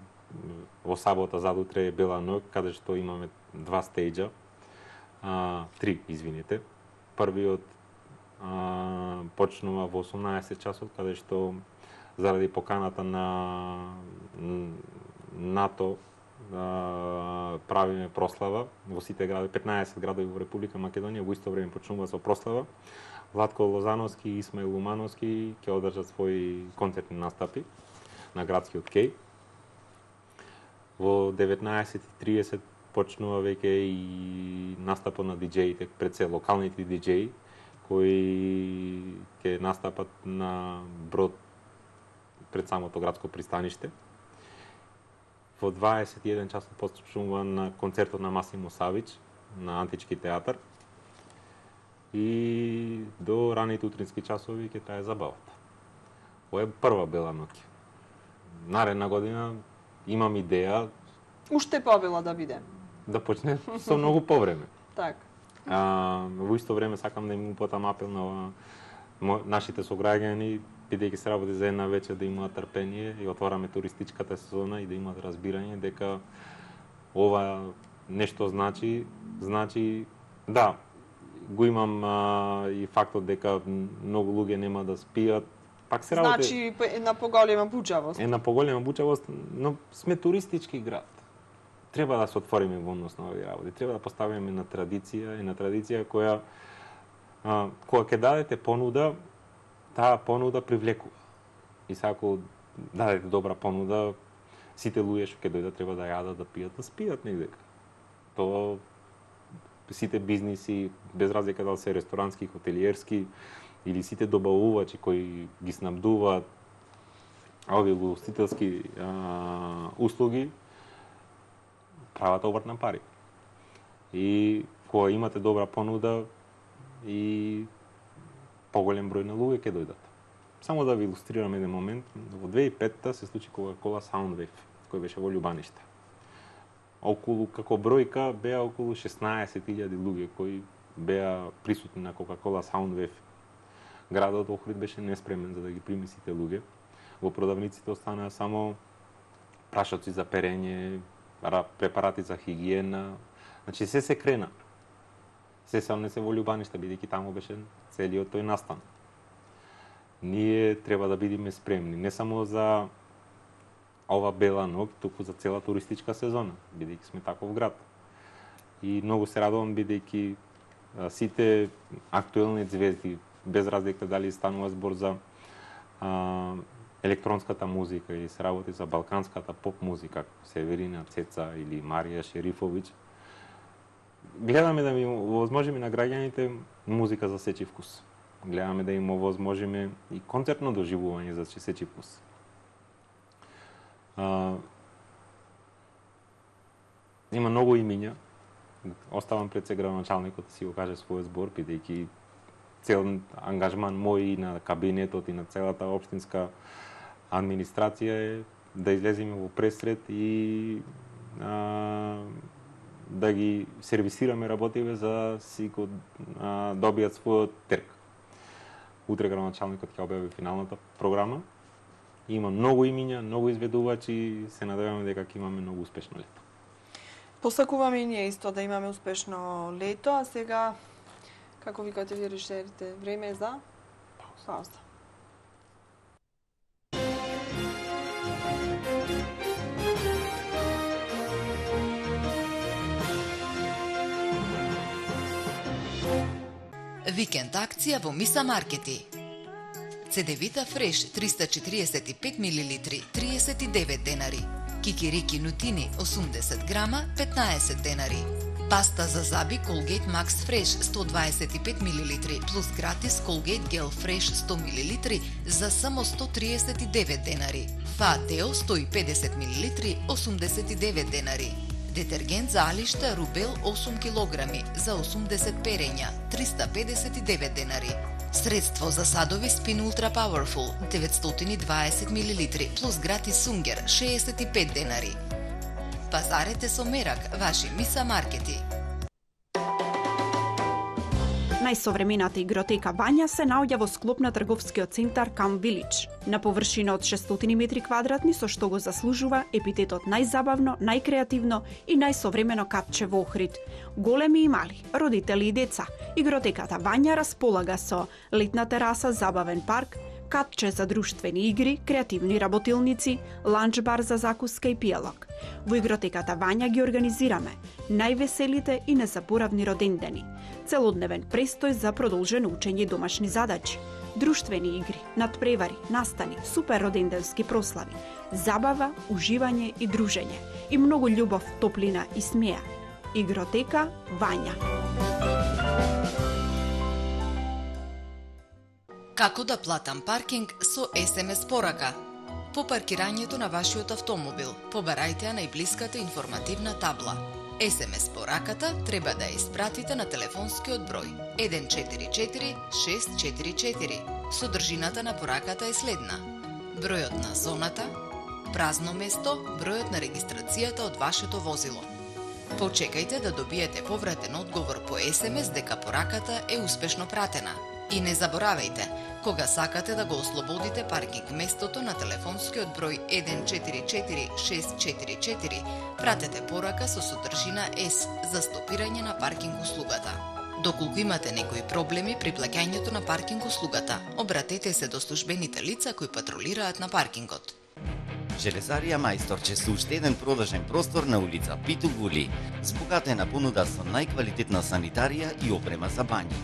во сабота задутре е Бела ноќ, каде што имаме два стејџа, а, три, извините. Првиот а, почнува во осумнаесет часот, каде што заради поканата на НАТО а, правиме прослава во сите градови, петнаесет градови во Република Македонија, во исто време почнува со прослава. Владко Лозановски и Исмаил Лумановски ќе одржат своји концертни настапи на градскиот кеј. Во деветнаесет и тридесет почнува веќе и настапот на диџеите, пред се локалните диџеи кои ќе настапат на брод пред самото градско пристаниште. Во дваесет и еден часот почнува на концертот на Масимо Савич на Антички театар. И до раните утрински часови ќе трае забавата. Ова е прва бела ноќ. Наредна година имам идеја уште побела да биде. Да почне со многу повреме. Така. А, во исто време сакам да им упатам апел на нашите сограѓани, бидејќи се работи за една вечер, да имаат трпение и отвараме туристичката сезона и да имаат разбирање дека ова нешто значи, значи да, го имам а, и фактот дека многу луѓе нема да спијат. Пак се работи... Значи една поголема бучавост. Една поголема бучавост, но сме туристички град. Треба да се отвориме во однос на овие работи. Треба да поставиме на традиција и на традиција која а, кога ќе дадете понуда, таа понуда привлекува. И сега ако дадете добра понуда, сите луѓе што ќе дојдат треба да јадат, да пијат, да спијат негдека. Тоа сите бизниси, без разлика дали се ресторански, хотелиерски или сите добавувачи кои ги снабдуваат овие угостителски а, услуги, прават обрт на пари. И кога имате добра понуда и поголем број на луѓе ќе дојдат. Само да ви илустрирам еден момент, во две илјади и петта се случи Coca-Cola Soundwave, кој беше во Љубаниште. Околу, како бројка, беа околу шеснаесет илјади луѓе кои беа присутни на Coca-Cola Soundwave. Градот Охрид беше неспремен за да ги прими сите луѓе. Во продавниците останаа само прашоци за перење, препарати за хигиена. Значи се се крена. Се се не се во Љубаниште, бидејќи таму беше целиот тој настан. Ние треба да бидеме спремни, не само за ова бела ноќ, туку за цела туристичка сезона, бидејќи сме таков град. И многу се радувам бидејќи сите актуелни звезди, без разлика дали станува збор за а, електронската музика или се работи за балканската поп музика, Северина Цеца или Марија Шерифовиќ, гледаме да им овозможиме на граѓаните музика за сечи вкус. Гледаме да им овозможиме и концертно доживување за сечи вкус. А, има многу имиња. Оставам пред се градоначалникот да си го каже својот збор, бидејќи цел ангажман мој и на кабинетот и на целата општинска администрација е да излеземе во пресред и а, да ги сервисираме работиве за си го а, добијат својот терк. Утре градоначалникот ќе објави финалната програма. Има многу имиња, многу изведувачи, се надеваме дека ќе имаме многу успешно лето. Посакуваме и ние исто да имаме успешно лето, а сега, како викате ви режисерите, време е за пауза. Викенд акција во Миса Маркети. Цедевита Фреш триста четириесет и пет милилитри триесет и девет денари. Кикирики нутини осумдесет грама петнаесет денари. Паста за заби Colgate Max Fresh сто дваесет и пет милилитри плюс гратис Colgate Gel Fresh сто милилитри за само сто триесет и девет денари. Фаатео сто и педесет милилитри осумдесет и девет денари. Детергент за алишта Рубел осум килограми за осумдесет перења триста педесет и девет денари. Средство за садови Spin Ultra Powerful деветстотини и дваесет милилитри плюс гратис Сунгер шеесет и пет денари. Пазарете со мерак, ваши Миса Маркети. Најсовремената игротека Вања се наоѓа во склоп на трговскиот центар Кам Вилидж. На површина од шестстотини метри квадратни, со што го заслужува епитетот најзабавно, најкреативно и најсовремено капче во Охрид. Големи и мали, родители и деца, игротеката Вања располага со летна тераса, забавен парк, катче за друштвени игри, креативни работилници, ланч бар за закуска и пијалок. Во игротеката Вања ги организираме највеселите и незаборавни родендени, целодневен престој за продолжено учење и домашни задачи, друштвени игри, надпревари, настани, супер роденденски прослави, забава, уживање и дружење и многу љубов, топлина и смеа. Игротека Вања. Како да платам паркинг со ес ем ес порака? По паркирањето на вашиот автомобил, побарајте ја најблиската информативна табла. ес ем ес пораката треба да ја испратите на телефонскиот број еден четири четири шест четири четири. Содржината на пораката е следна: бројот на зоната, празно место, бројот на регистрацијата од вашето возило. Почекајте да добиете повратен одговор по ес ем ес дека пораката е успешно пратена. И не заборавајте, кога сакате да го ослободите паркинг местото на телефонскиот број еден четири четири шест четири четири, пратете порака со содржина С за стопирање на паркинг услугата. Доколку имате некои проблеми при плаќањето на паркинг услугата, обратете се до службените лица кои патрулираат на паркингот. Железарија Мајсторче со уште еден продажен простор на улица Питу Вули, збогатена понуда со најквалитетна санитарија и опрема за бањи.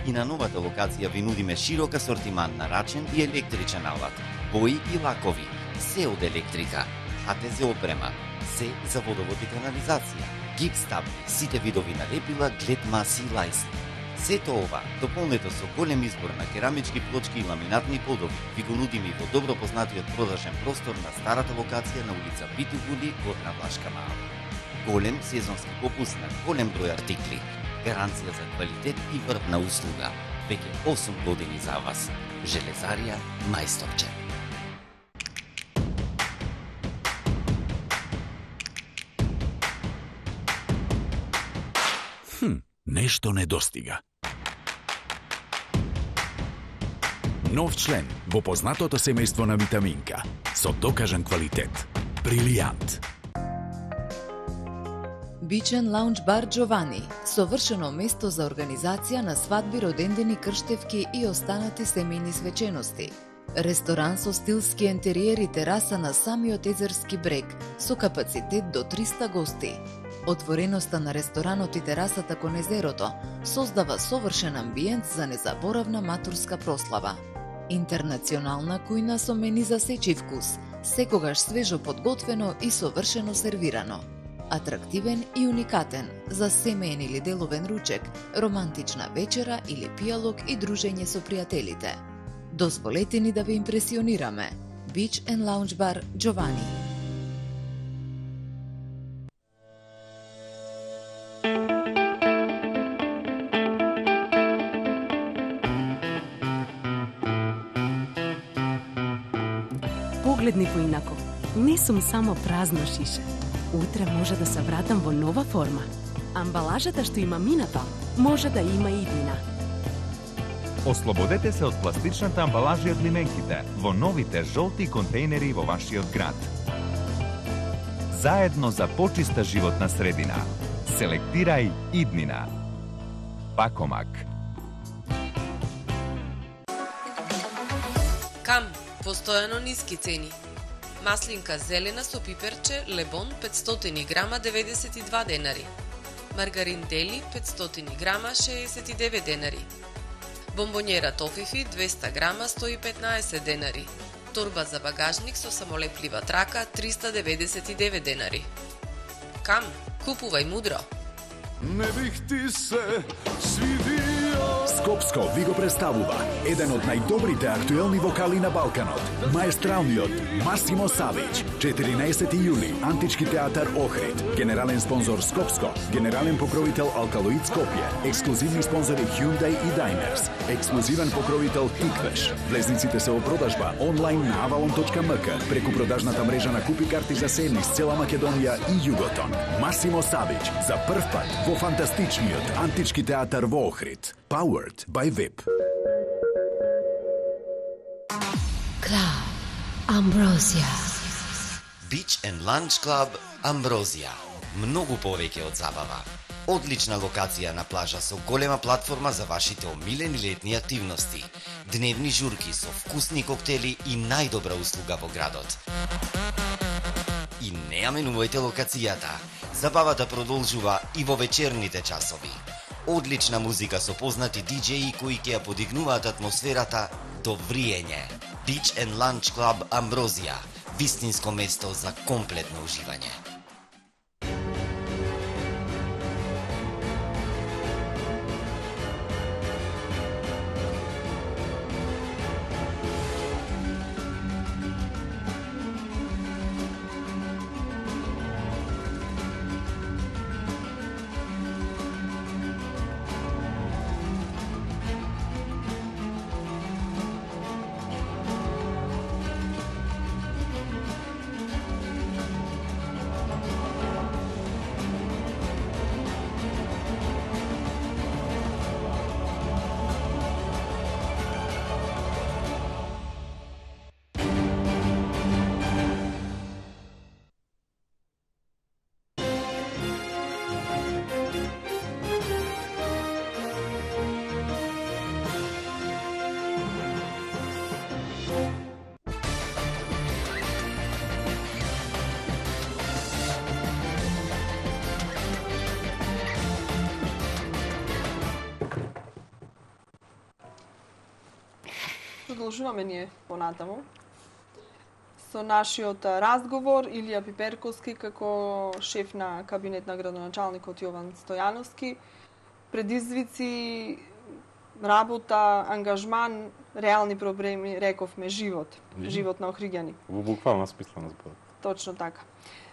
И на новата локација ви нудиме широк асортиман на рачен и електричен алат, бои и лакови, се од електрика, а те за опрема, се за водовод и канализација, гипс табли, сите видови налепила, глед маси и лајс. Сето ова, дополнето со голем избор на керамички плочки и ламинатни подови, ви го нудиме и во добро познатиот продажен простор на старата локација на улица Питу Вули, Горна Влашка Мала. Голем сезонски попуст на голем број артикли, гаранција за квалитет и врвна услуга. Веќе осум години за вас. Железарија Мајсторче. Хм, нешто недостига. Нов член во познатото семејство на витаминка со докажан квалитет. Брилијант. Бичен лаунж бар Джовани, совршено место за организација на свадби, родендени, крштевки и останати семејни свечености. Ресторан со стилски ентериер и тераса на самиот езерски брег, со капацитет до триста гости. Отвореноста на ресторанот и терасата кон езерото создава совршен амбиент за незаборавна матурска прослава. Интернационална кујна со мени за сечи вкус, секогаш свежо подготвено и совршено сервирано. Атрактивен и уникатен за семеен или деловен ручек, романтична вечера или пијалок и дружење со пријателите. Дозволете ни да ве импресионираме. Beach and Lounge Bar Giovanni. Погледни поинако. Не сум само празно шише. Утре може да се вратам во нова форма. Амбалажата што има минато, може да има и иднина. Ослободете се од пластичната амбалажа и од лименките во новите жолти контейнери во вашиот град. Заедно за почиста животна средина. Селектирај иднина. Пакомак. Кам, постојано ниски цени. Маслинка зелена со пиперче Лебон петстотини грама деветдесет и два денари. Маргарин Дели петстотини грама шеесет и девет денари. Бомбонјера Тофифи двеста грама сто и петнаесет денари. Торба за багажник со самолеплива трака триста деветдесет и девет денари. Кам, купувај мудро. Не бих ти се свидио. Скопско ви го представува еден од најдобрите актуелни вокали на Балканот, маестралниот Масимо Савич. четиринаесети јули, Антички театар Охрид. Генерален спонзор Скопско, генерален покровител Алкалоид Скопје, ексклузивни спонзори Hyundai и Daimers, ексклузивен покровител Тиквеш. Влезниците се во продажба онлайн на avalon точка ем ка, преку продажната мрежа на купи карти за се низ цела Македонија и Југотон. Масимо Савич за прв пат во фантастичниот Антички театар во Охрид. Powered by ви ай пи. Club Ambrosia. Beach and Lunch Club Ambrosia. Многу повеќе од забава. Одлична локација на плажа со голема платформа за вашите омилени летни активности. Дневни журки со вкусни коктели и најдобра услуга во градот. И не ја менувајте локацијата. Забавата продолжува и во вечерните часови. Одлична музика со познати диџеи кои ќе ја подигнуваат атмосферата до вриење. Beach and Lunch Club Амброзија. Вистинско место за комплетно уживање. Продолжуваме ние понатаму со нашиот разговор. Илија Пиперковски како шеф на кабинет на градоначалникот Јован Стојановски. Предизвици, работа, ангажман, реални проблеми, рековме живот, живот на Охриѓани. Во буквална смисла на зборот. Точно така.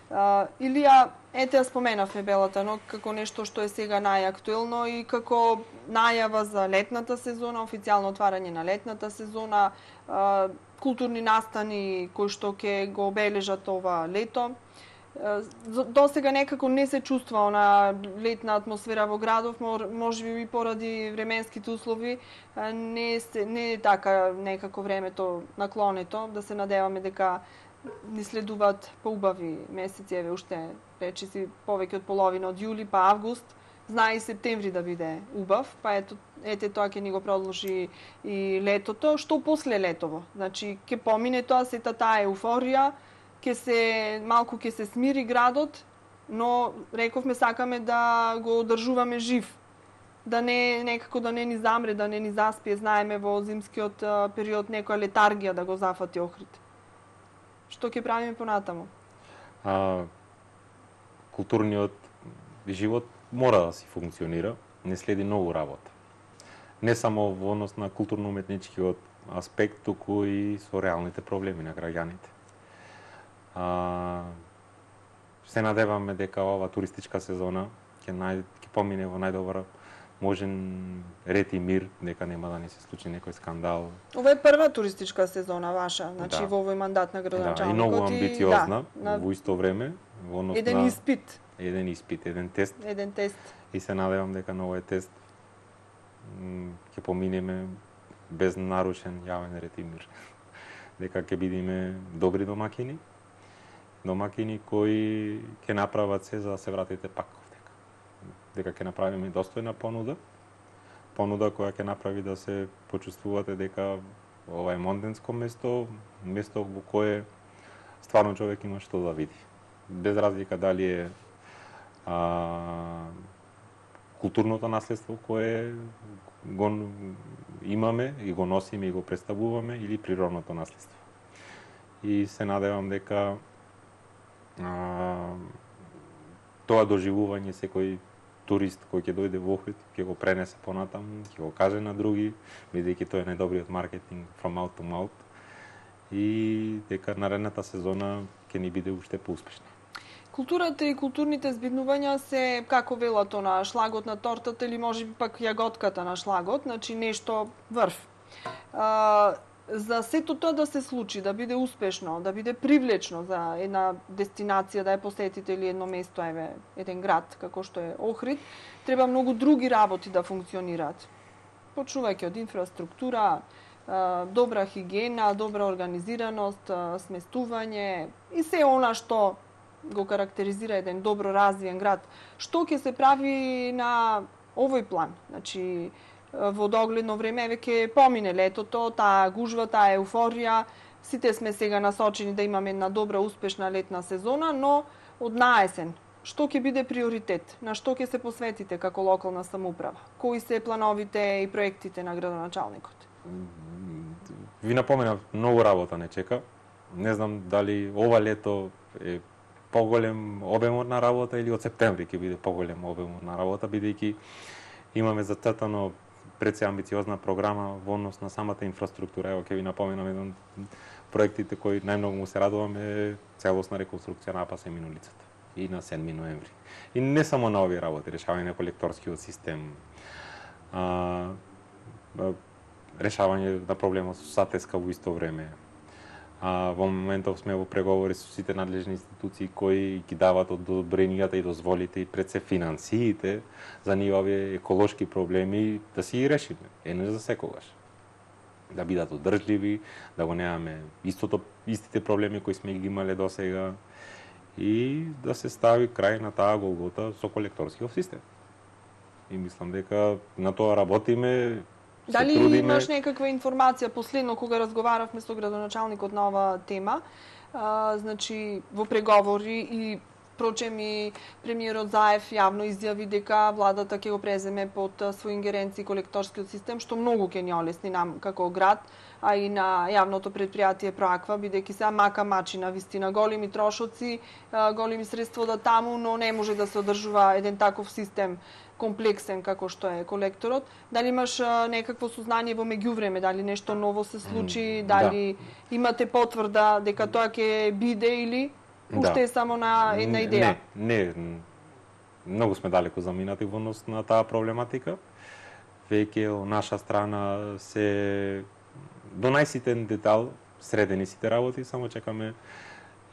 Uh, Илија, ете ја споменавме Белата ног како нешто што е сега најактуелно и како најава за летната сезона, официјално отварање на летната сезона, uh, културни настани кои што ќе го обележат ова лето. Uh, до сега некако не се чувства она летна атмосфера во градов, може би поради временските услови, uh, не, се, не е така некако времето наклонето, да се надеваме дека ни следуваат поубави месеци, еве уште речиси повеќе од половина од јули па август, знае и септември да биде убав, па ето ете тоа ќе ни го продолжи и летото, што после летово. Значи ќе помине тоа сета таа еуфорија, ќе се малку ќе се смири градот, но рековме сакаме да го одржуваме жив. Да не некако да не ни замре, да не ни заспие, знаеме во зимскиот период некоја летаргија да го зафати Охрид. Што ќе правиме понатаму? А, културниот живот мора да си функционира, не следи многу работа. Не само во однос на културно-уметничкиот аспект, туку и со реалните проблеми на граѓаните. А, се надеваме дека ова туристичка сезона ќе нај, ќе помине во најдобар можен ред и мир, дека нема да не се случи некој скандал. Ова е прва туристичка сезона ваша, значи да. Во овој мандат на градоначалникот. Да, и многу амбициозна, и, да, во исто време, во однос еден на испит. Еден испит, еден тест. Еден тест. И се надевам дека на овој тест ќе поминеме без нарушен јавен ред и мир. Дека ќе бидеме добри домакини, домакини кои ќе направат се за да се вратите пак овдека. Дека ќе направиме достојна понуда, понуда која ќе направи да се почувствувате дека ова е монденско место, место во кое стварно човек има што да види. Без разлика дали е а, културното наследство кое го имаме и го носиме и го представуваме или природното наследство. И се надевам дека а, тоа доживување секој турист кој ќе дојде во Охрид ќе го пренесе понатаму, ќе го каже на други, бидејќи тоа е најдобриот маркетинг from mouth to mouth и дека наредната сезона ќе ни биде уште поуспешна. Културата и културните збиднувања се, како велато на шлагот на тортата или може би пак јаготката на шлагот, значи нешто врв. А, за сето тоа да се случи, да биде успешно, да биде привлечно за една дестинација, да ја посетите или едно место, еве, еден град, како што е Охрид, треба многу други работи да функционираат. Почнувајќи од инфраструктура, добра хигиена, добра организираност, сместување и се она што го карактеризира еден добро развиен град. Што ќе се прави на овој план? Значи, во догледно време веќе помине летото, таа гужва, таа еуфорија, сите сме сега насочени да имаме една добра, успешна летна сезона, но од наесен, што ќе биде приоритет? На што ќе се посветите како локална самоуправа? Кои се плановите и проектите на градоначалникот? Ви напоменав, многу работа не чека. Не знам дали ова лето е поголем обемот на работа или од септември ќе биде поголем обемот на работа, бидејќи имаме зацртано пред се амбициозна програма во однос на самата инфраструктура. Ево ќе ви напоменам еден проектите кои најмногу му се радувам е целосна реконструкција на Апасемин улицата и на седми ноември. И не само на овие работи, решавање на колекторскиот систем, а, решавање на проблемот со Сатеска во исто време. А, во моментов сме во преговори со сите надлежни институции кои ги дават одобренијата и дозволите и пред се финансиите за нив овие еколошки проблеми да си ги решиме, еднаш за секогаш. Да бидат одржливи, да го немаме истото, истите проблеми кои сме ги имале досега и да се стави крај на таа голгота со колекторскиот систем. И мислам дека на тоа работиме. Дали трудиме... имаш некаква информација последно кога разговаравме со градоначалникот на оваа тема? А, значи во преговори и прочем и премиерот Заев јавно изјави дека владата ќе го преземе под свој ингеренција колекторскиот систем, што многу ќе ни олесни нам како град, а и на јавното предпријатие Проаква, бидејќи сега мака мачина, вистина, големи трошоци, големи средства да таму, но не може да се одржува еден таков систем комплексен како што е колекторот. Дали имаш некакво сознание во меѓувреме, дали нешто ново се случи, дали да. Имате потврда дека тоа ќе биде или уште е само на една идеја? Не, не, многу сме далеко заминати во однос на таа проблематика. Веќе од наша страна се до најситен детал средени сите работи, само чекаме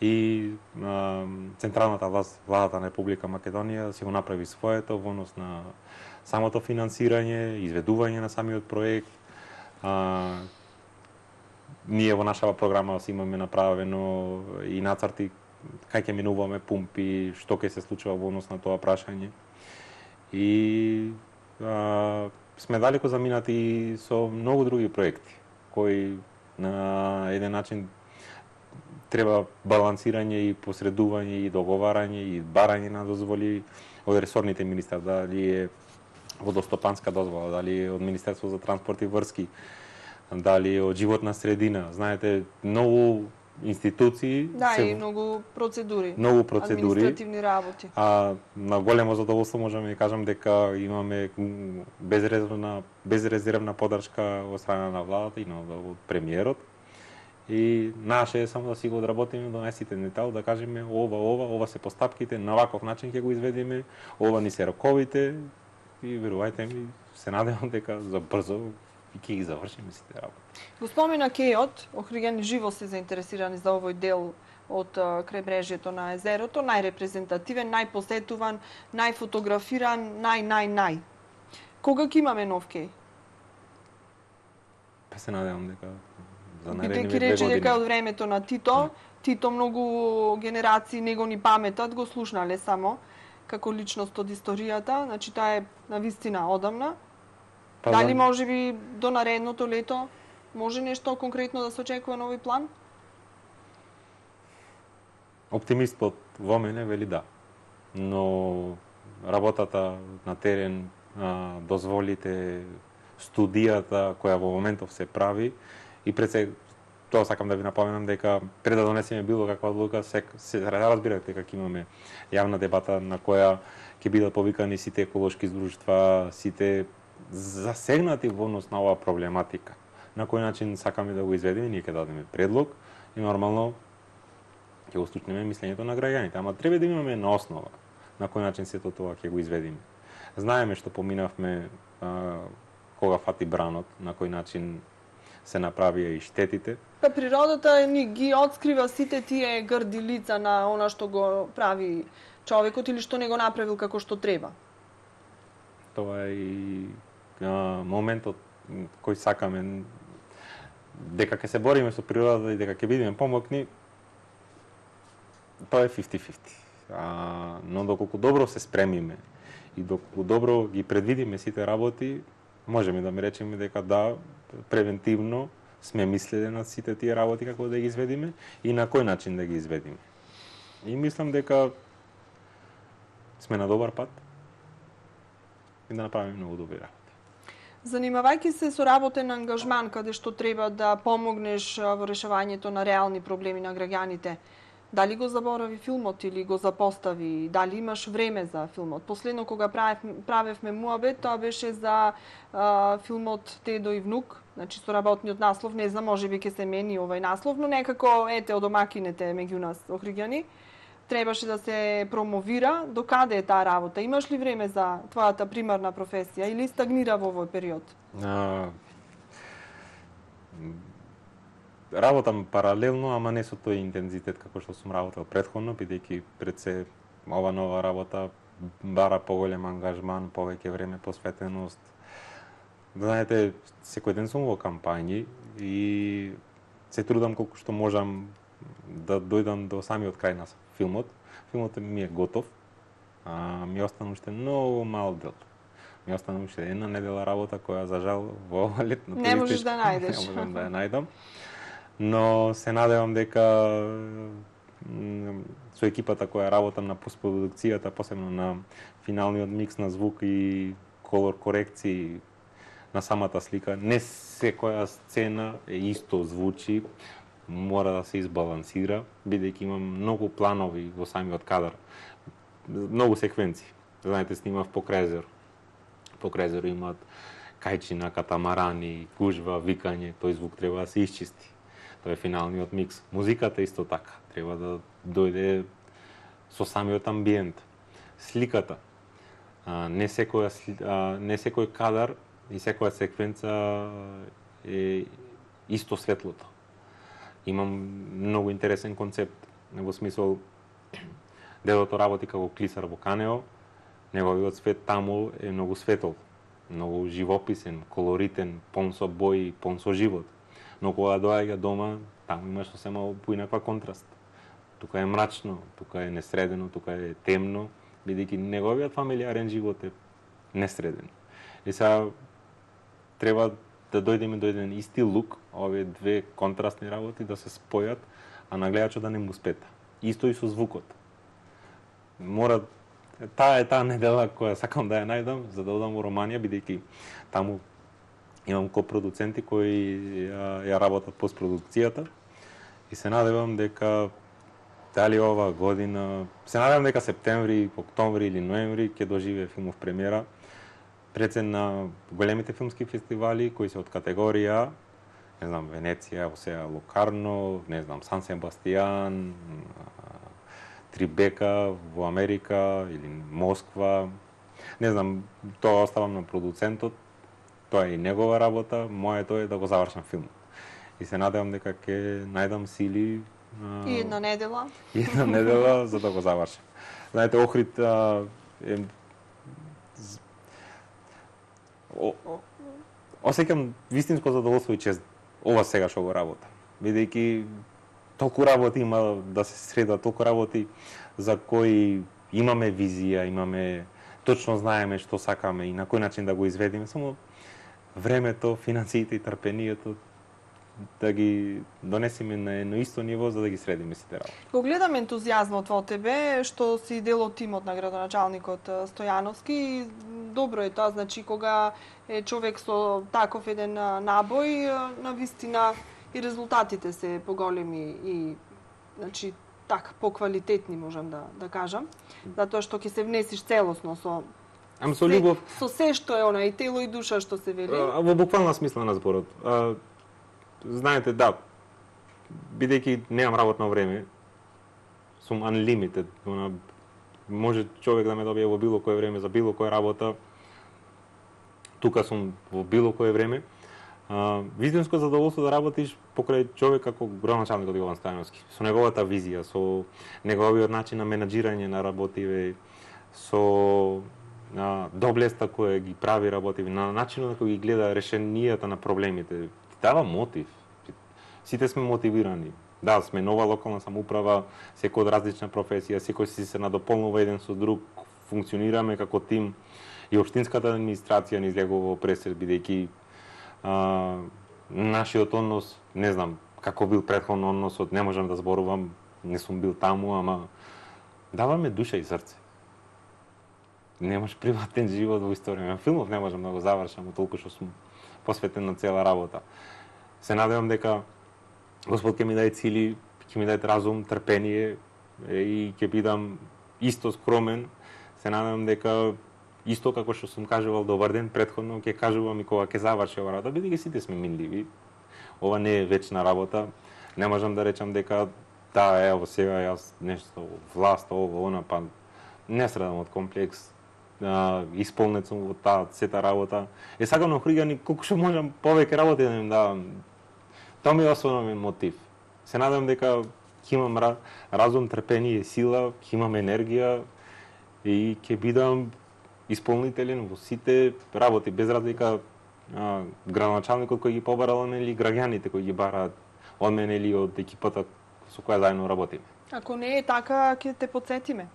и а, централната власт, владата на Република Македонија си го направи своето во однос на самото финансирање, изведување на самиот проект. А, ние во нашава програма си имаме направено и нацрти кај ќе минуваме пумпи, што ќе се случува во однос на тоа прашање. И а, сме далеко заминати со многу други проекти кои на еден начин треба балансирање и посредување и договарање и барање на дозволи од ресорните министри, дали е водостопанска дозвола, дали е од Министерство за транспорт и врски, дали е од животна средина. Знаете, многу институции, да, се... и многу процедури, многу процедури, административни работи. А на големо задоволство можеме да кажам дека имаме безрезервна безрезервна поддршка од страна на владата и на од премиерот. И наше е само да си го одработиме до најситен детал, да кажеме ова, ова, ова се постапките, на ваков начин ќе го изведеме, ова ни се роковите и верувајте ми, се надевам дека за брзо и ќе ги завршиме сите работи. Го спомена Кејот, Охриѓани живо се заинтересирани за овој дел од крајбрежјето на езерото, најрепрезентативен, најпосетуван, најфотографиран, нај, нај, нај. Кога ќе имаме нов Кеј? Па се надевам дека за наредните две години. Бидејќи рече дека од времето на Тито, Тито многу генерации него ни паметат, го слушнале само како личност од историјата, значи таа е на вистина одамна. Па, дали може би до наредното лето може нешто конкретно да се очекува на овој план? Оптимистот во мене вели да. Но работата на терен, дозволите, студијата која во моментов се прави и пред се тоа сакам да ви напоменам дека пред да донесеме било каква одлука се, се разбирате дека ќе имаме јавна дебата на која ќе бидат повикани сите еколошки друштва, сите засегнати во однос на оваа проблематика. На кој начин сакаме да го изведеме, ние ќе дадеме предлог и нормално ќе го слушнеме мислењето на граѓаните, ама треба да имаме една основа на кој начин сето тоа ќе го изведеме. Знаеме што поминавме а, кога фати бранот, на кој начин се направија и штетите. Па природата ни ги открива сите тие грди лица на она што го прави човекот или што не го направил како што треба. Тоа е и а, моментот кој сакаме дека ќе се бориме со природата и дека ќе бидеме помокни. тоа е фифти фифти. А, но доколку добро се спремиме и доколку добро ги предвидиме сите работи, можеме да ми речеме дека да, превентивно сме мислеле на сите тие работи како да ги изведиме и на кој начин да ги изведиме. И мислам дека сме на добар пат и да направиме многу добри работи. Занимавајќи се со работен ангажман, каде што треба да помогнеш во решавањето на реални проблеми на граѓаните, дали го заборави филмот или го запостави? Дали имаш време за филмот? Последно кога правев, правевме муабет, тоа беше за а, филмот Дедо и внук, значи со работниот наслов, не знам, можеби ќе се мени овај наслов, но некако ете од домакините меѓу нас Охриѓани требаше да се промовира. До каде е таа работа? Имаш ли време за твојата примарна професија или стагнира во овој период? А, работам паралелно, ама не со тој интензитет како што сум работел претходно, бидејќи пред се ова нова работа бара поголем ангажман, повеќе време, посветеност. Знаете, секој ден сум во кампањи и се трудам колку што можам да дојдам до самиот крај на филмот. Филмот ми е готов, а ми остана уште многу мал дел. Ми остана уште една недела работа која за жал во ова летно не можеш да најдеш. Не можам да ја најдам. Но се надевам дека со екипата која работам на постпродукцијата, посебно на финалниот микс на звук и колор корекции на самата слика, не секоја сцена е исто звучи, мора да се избалансира, бидејќи имам многу планови во самиот кадар, многу секвенции. Знаете, снимав покрај езеро. Покрај езеро имаат кајчина, катамарани, гужва, викање, тој звук треба да се исчисти. Тоа е финалниот микс. Музиката исто така, треба да дојде со самиот амбиент. Сликата, а, не секоја а, не секој кадар и секоја секвенца е исто светлото. Имам многу интересен концепт, во смисол дедото работи како клисар во Канео, неговиот свет таму е многу светол, многу живописен, колоритен, пон со бои, пон со живот. Но кога доаѓа дома, таму имаш сосема поинаква контраст. Тука е мрачно, тука е несредено, тука е темно, бидејќи неговиот фамилиарен живот е несреден. И сега треба да дојдеме до еден исти лук, овие две контрастни работи да се спојат, а на гледачот да не му спета. Исто и со звукот. Мора таа е таа недела која сакам да ја најдам за да одам во Романија, бидејќи таму имам копродуценти кои ја, ја работат постпродукцијата и се надевам дека дали ова година, се надевам дека септември, октомври или ноември ќе доживее филмов премиера пред се на големите филмски фестивали кои се од категорија, не знам, Венеција, Осеа Локарно, не знам, Сан Себастијан, Трибека во Америка или Москва. Не знам, тоа оставам на продуцентот, тоа е и негова работа, моето е да го завршам филмот. И се надевам дека ќе најдам сили а... и една недела. И една недела за да го завршам. Знаете, Охрид а, е О, осеќам вистинско задоволство и чест ова сега што го работам. Бидејќи толку работи има да се средат, толку работи за кои имаме визија, имаме точно знаеме што сакаме и на кој начин да го изведеме, само времето, финансиите и трпението да ги донесеме на едно исто ниво за да ги средиме сите работи. Го гледам ентузијазмот во тебе, што си дел од тимот на градоначалникот Стојановски и добро е тоа, значи кога е човек со таков еден набој, на вистина и резултатите се поголеми и значи така поквалитетни можам да да кажам, затоа што ќе се внесиш целосно со Ам со љубов, со се што е она и тело и душа што се вели. А, во буквална смисла на зборот. А, знаете, да, бидејќи немам работно време, сум unlimited, она, може човек да ме добие во било кое време за било која работа. Тука сум во било кое време. А, вистинско задоволство да работиш покрај човек како градоначалникот Јован Стојановски, со неговата визија, со неговиот начин на менаџирање на работиве, со на доблеста која ги прави работиви, на начинот на кој ги гледа решенијата на проблемите, ти дава мотив. Сите сме мотивирани. Да, сме нова локална самоуправа, секој од различна професија, секој си се надополнува еден со друг, функционираме како тим и општинската администрација ни излегува во пресед, бидејќи а, нашиот однос, не знам како бил претходно односот, не можам да зборувам, не сум бил таму, ама даваме душа и срце. Немаш приватен живот во историја. Филмов не можам да го завршам, толку што сум посветен на цела работа. Се надевам дека Господ ќе ми даде цели, ќе ми даде разум, трпение и ќе бидам исто скромен. Се надевам дека исто како што сум кажувал добар ден претходно, ќе кажувам и кога ќе заврши ова работа, бидејќи сите сме минливи. Ова не е вечна работа. Не можам да речам дека да, ево сега јас нешто власт, ова, она, па не страдам од комплекс. Uh, исполнет сум во таа сета работа. Е сакам на Охридјани колку што можам повеќе работи да им давам. Тоа ми е основен мотив. Се надам дека ќе имам разум, трпение, сила, ќе имам енергија и ќе бидам исполнителен во сите работи, без разлика а, градоначалникот кој ги побарал или граѓаните кои ги бараат од мене или од екипата со која заедно работиме. Ако не е така, ќе те потсетиме.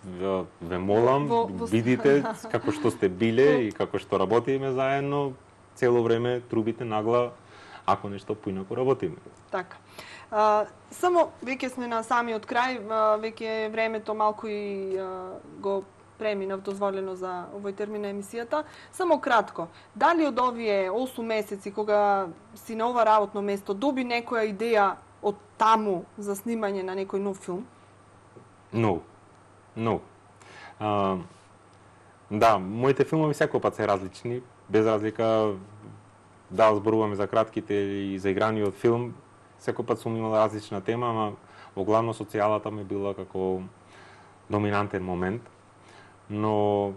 Ве, ве молам, во, во... бидите како што сте биле и како што работиме заедно, цело време трубите нагла ако нешто поинаку работиме. Така. А, само веќе сме на самиот крај, а, веќе времето малку и а, го преминав дозволено за овој термин на емисијата. Само кратко, дали од овие осум месеци кога си на ова работно место доби некоја идеја од таму за снимање на некој нов филм? No. No. А, да, моите филмови секој пат се различни, без разлика да зборуваме за кратките и за играниот филм, секој пат сум имал различна тема, ама во главно социјалата ми била како доминантен момент, но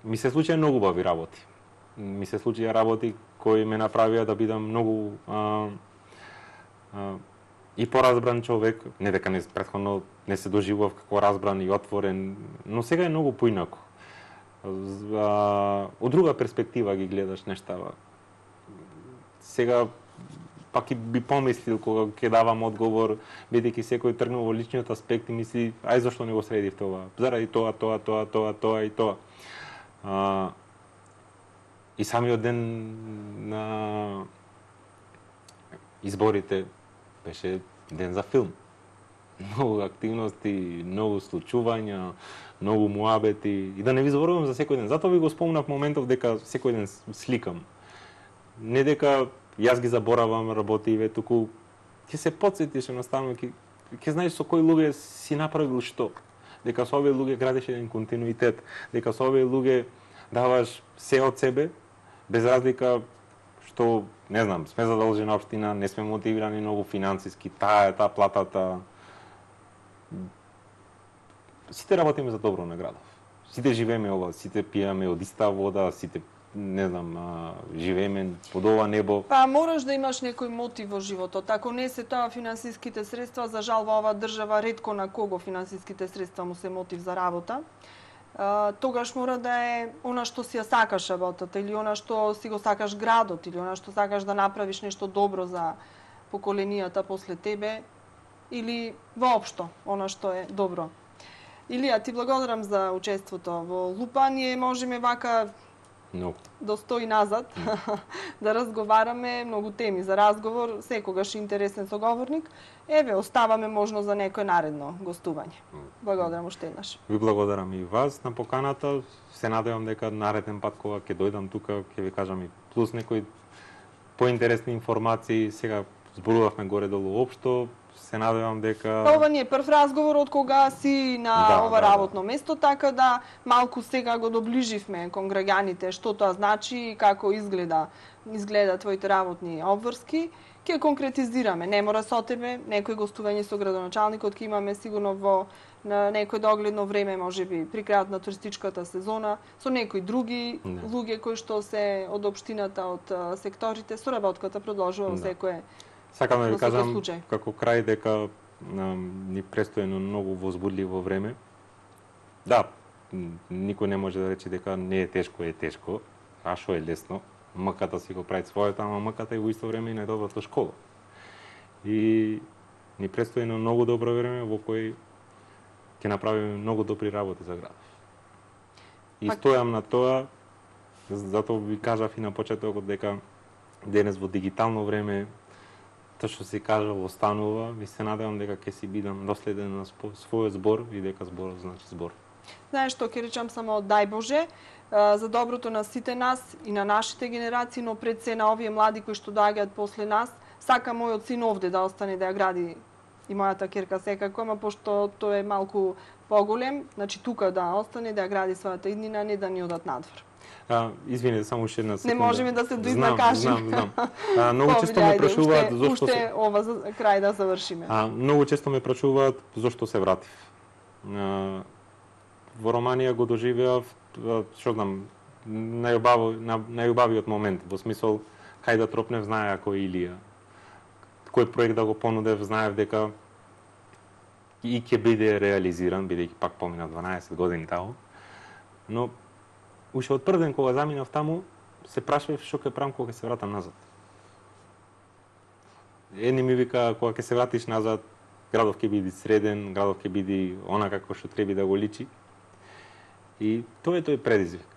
ми се случија многу убави работи. Ми се случија работи кои ме направија да бидам многу а, а, и поразбран човек, не дека не претходно не се доживував како разбран и отворен, но сега е многу поинаку. Од друга перспектива ги гледаш нештава. Сега пак и би помислил кога ќе давам одговор, бидејќи секој тргнува во личниот аспект и мисли, ај зашто не го средив тоа? Заради тоа, тоа, тоа, тоа, тоа и тоа. А, и самиот ден на изборите беше ден за филм. Многу активности, многу случувања, многу муабети и да не ви зборувам за секој ден. Затоа ви го спомнав моментов дека секој ден сликам. Не дека јас ги заборавам работиве, туку ќе се потсетиш едноставно, ќе ќе знаеш со кои луѓе си направил што. Дека со овие луѓе градиш еден континуитет, дека со овие луѓе даваш се од себе, без разлика што, не знам, сме задолжена општина, не сме мотивирани многу финансиски, таа е таа платата. Сите работиме за добро на градов. Сите живееме ова, сите пиеме од иста вода, сите, не знам, а, живееме под ова небо. Па мораш да имаш некој мотив во животот. Ако не се тоа финансиските средства, за жал во оваа држава ретко на кого финансиските средства му се мотив за работа. Uh, тогаш мора да е она што си ја сакаш работата, или она што си го сакаш градот, или она што сакаш да направиш нешто добро за поколенијата после тебе, или воопшто она што е добро. Илија, ти благодарам за учеството во Лупа. Ние можеме вака No. до сто и назад да разговараме, многу теми за разговор, секогаш интересен соговорник. Еве, оставаме можно за некој наредно гостување. Благодарам уште еднаш. Ви благодарам и вас на поканата. Се надевам дека нареден пат кога ќе дојдам тука, ќе ви кажам и плюс некои поинтересни информации. Сега зборувавме горе-долу општо. Се надевам дека... Ова не е прв разговор од кога си на да, ова да, работно да. место, така да малку сега го доближивме кон граѓаните што тоа значи и како изгледа изгледа твоите работни обврски. Ќе конкретизираме. Не мора со тебе, некој гостување со градоначалникот ќе имаме сигурно во на некој догледно време, можеби при крајот на туристичката сезона, со некои други Не. луѓе кои што се од општината, од а, секторите, соработката продолжува во Да. секој. Сакам да ви во секој кажам случај. како крај дека ам, ни престои едно многу возбудливо време. Да, м, никој не може да рече дека не е тешко, е тешко, а што е лесно. Мъката си го прави своето, ама мъката е во исто време и најдоброто школа. и ни предстои едно многу добро време во кој ќе направиме многу добри работи за градов. И Пак... стојам на тоа, затоа ви кажав и на почетокот дека денес во дигитално време тоа што се кажа останува, ви се надевам дека ќе си бидам доследен на својот збор и дека зборот значи збор. Знаеш што, ќе речам само дај Боже за доброто на сите нас и на нашите генерации, но пред се на овие млади кои што доаѓаат после нас. Сака мојот син овде да остане да ја гради и мојата керка секако, ама пошто тој е малку поголем, значи тука да остане да ја гради својата иднина, не да ни одат надвор. А, извинете, само уште една секунда. Не можеме да се доизнакажиме. Знам, знам, знам. А, многу често ме прашуваат зошто уште се... ова за крај да завршиме. А, многу често ме прашуваат зошто се вратив. А, во Романија го доживеав, што знам, најубавиот момент, во смисол кај да тропнев знае ако е Илија. Кој проект да го понудев, знаев дека и ќе биде реализиран, бидејќи пак помина дванаесет години таму. Но уште од прв ден кога заминав таму, се прашав што ќе правам кога ќе се вратам назад. Едни ми вика кога ќе се вратиш назад, градов ќе биде среден, градов ќе биде она како што треба да го личи. И тоа е тој предизвик.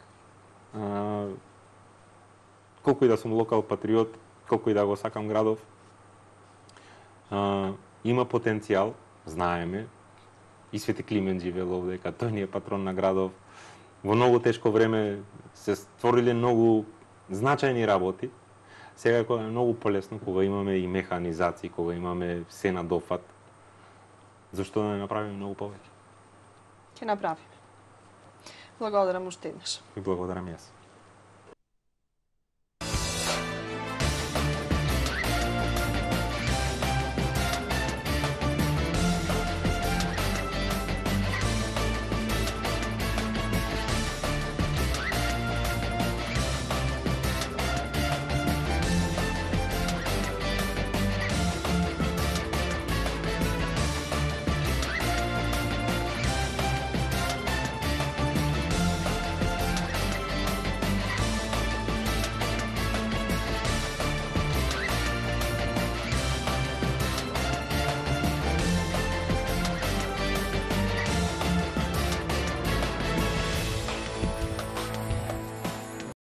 А, колку и да сум локал патриот, колку и да го сакам градов, а, има потенцијал, знаеме, и Свети Климент живеел овде, дека тој ни е патрон на градов. Во многу тешко време се створиле многу значајни работи. Сега е многу полесно кога имаме и механизации, кога имаме се на дофат. Зашто да не направиме многу повеќе? Ќе направиме. Благодарам уште еднаш. И благодарам јас.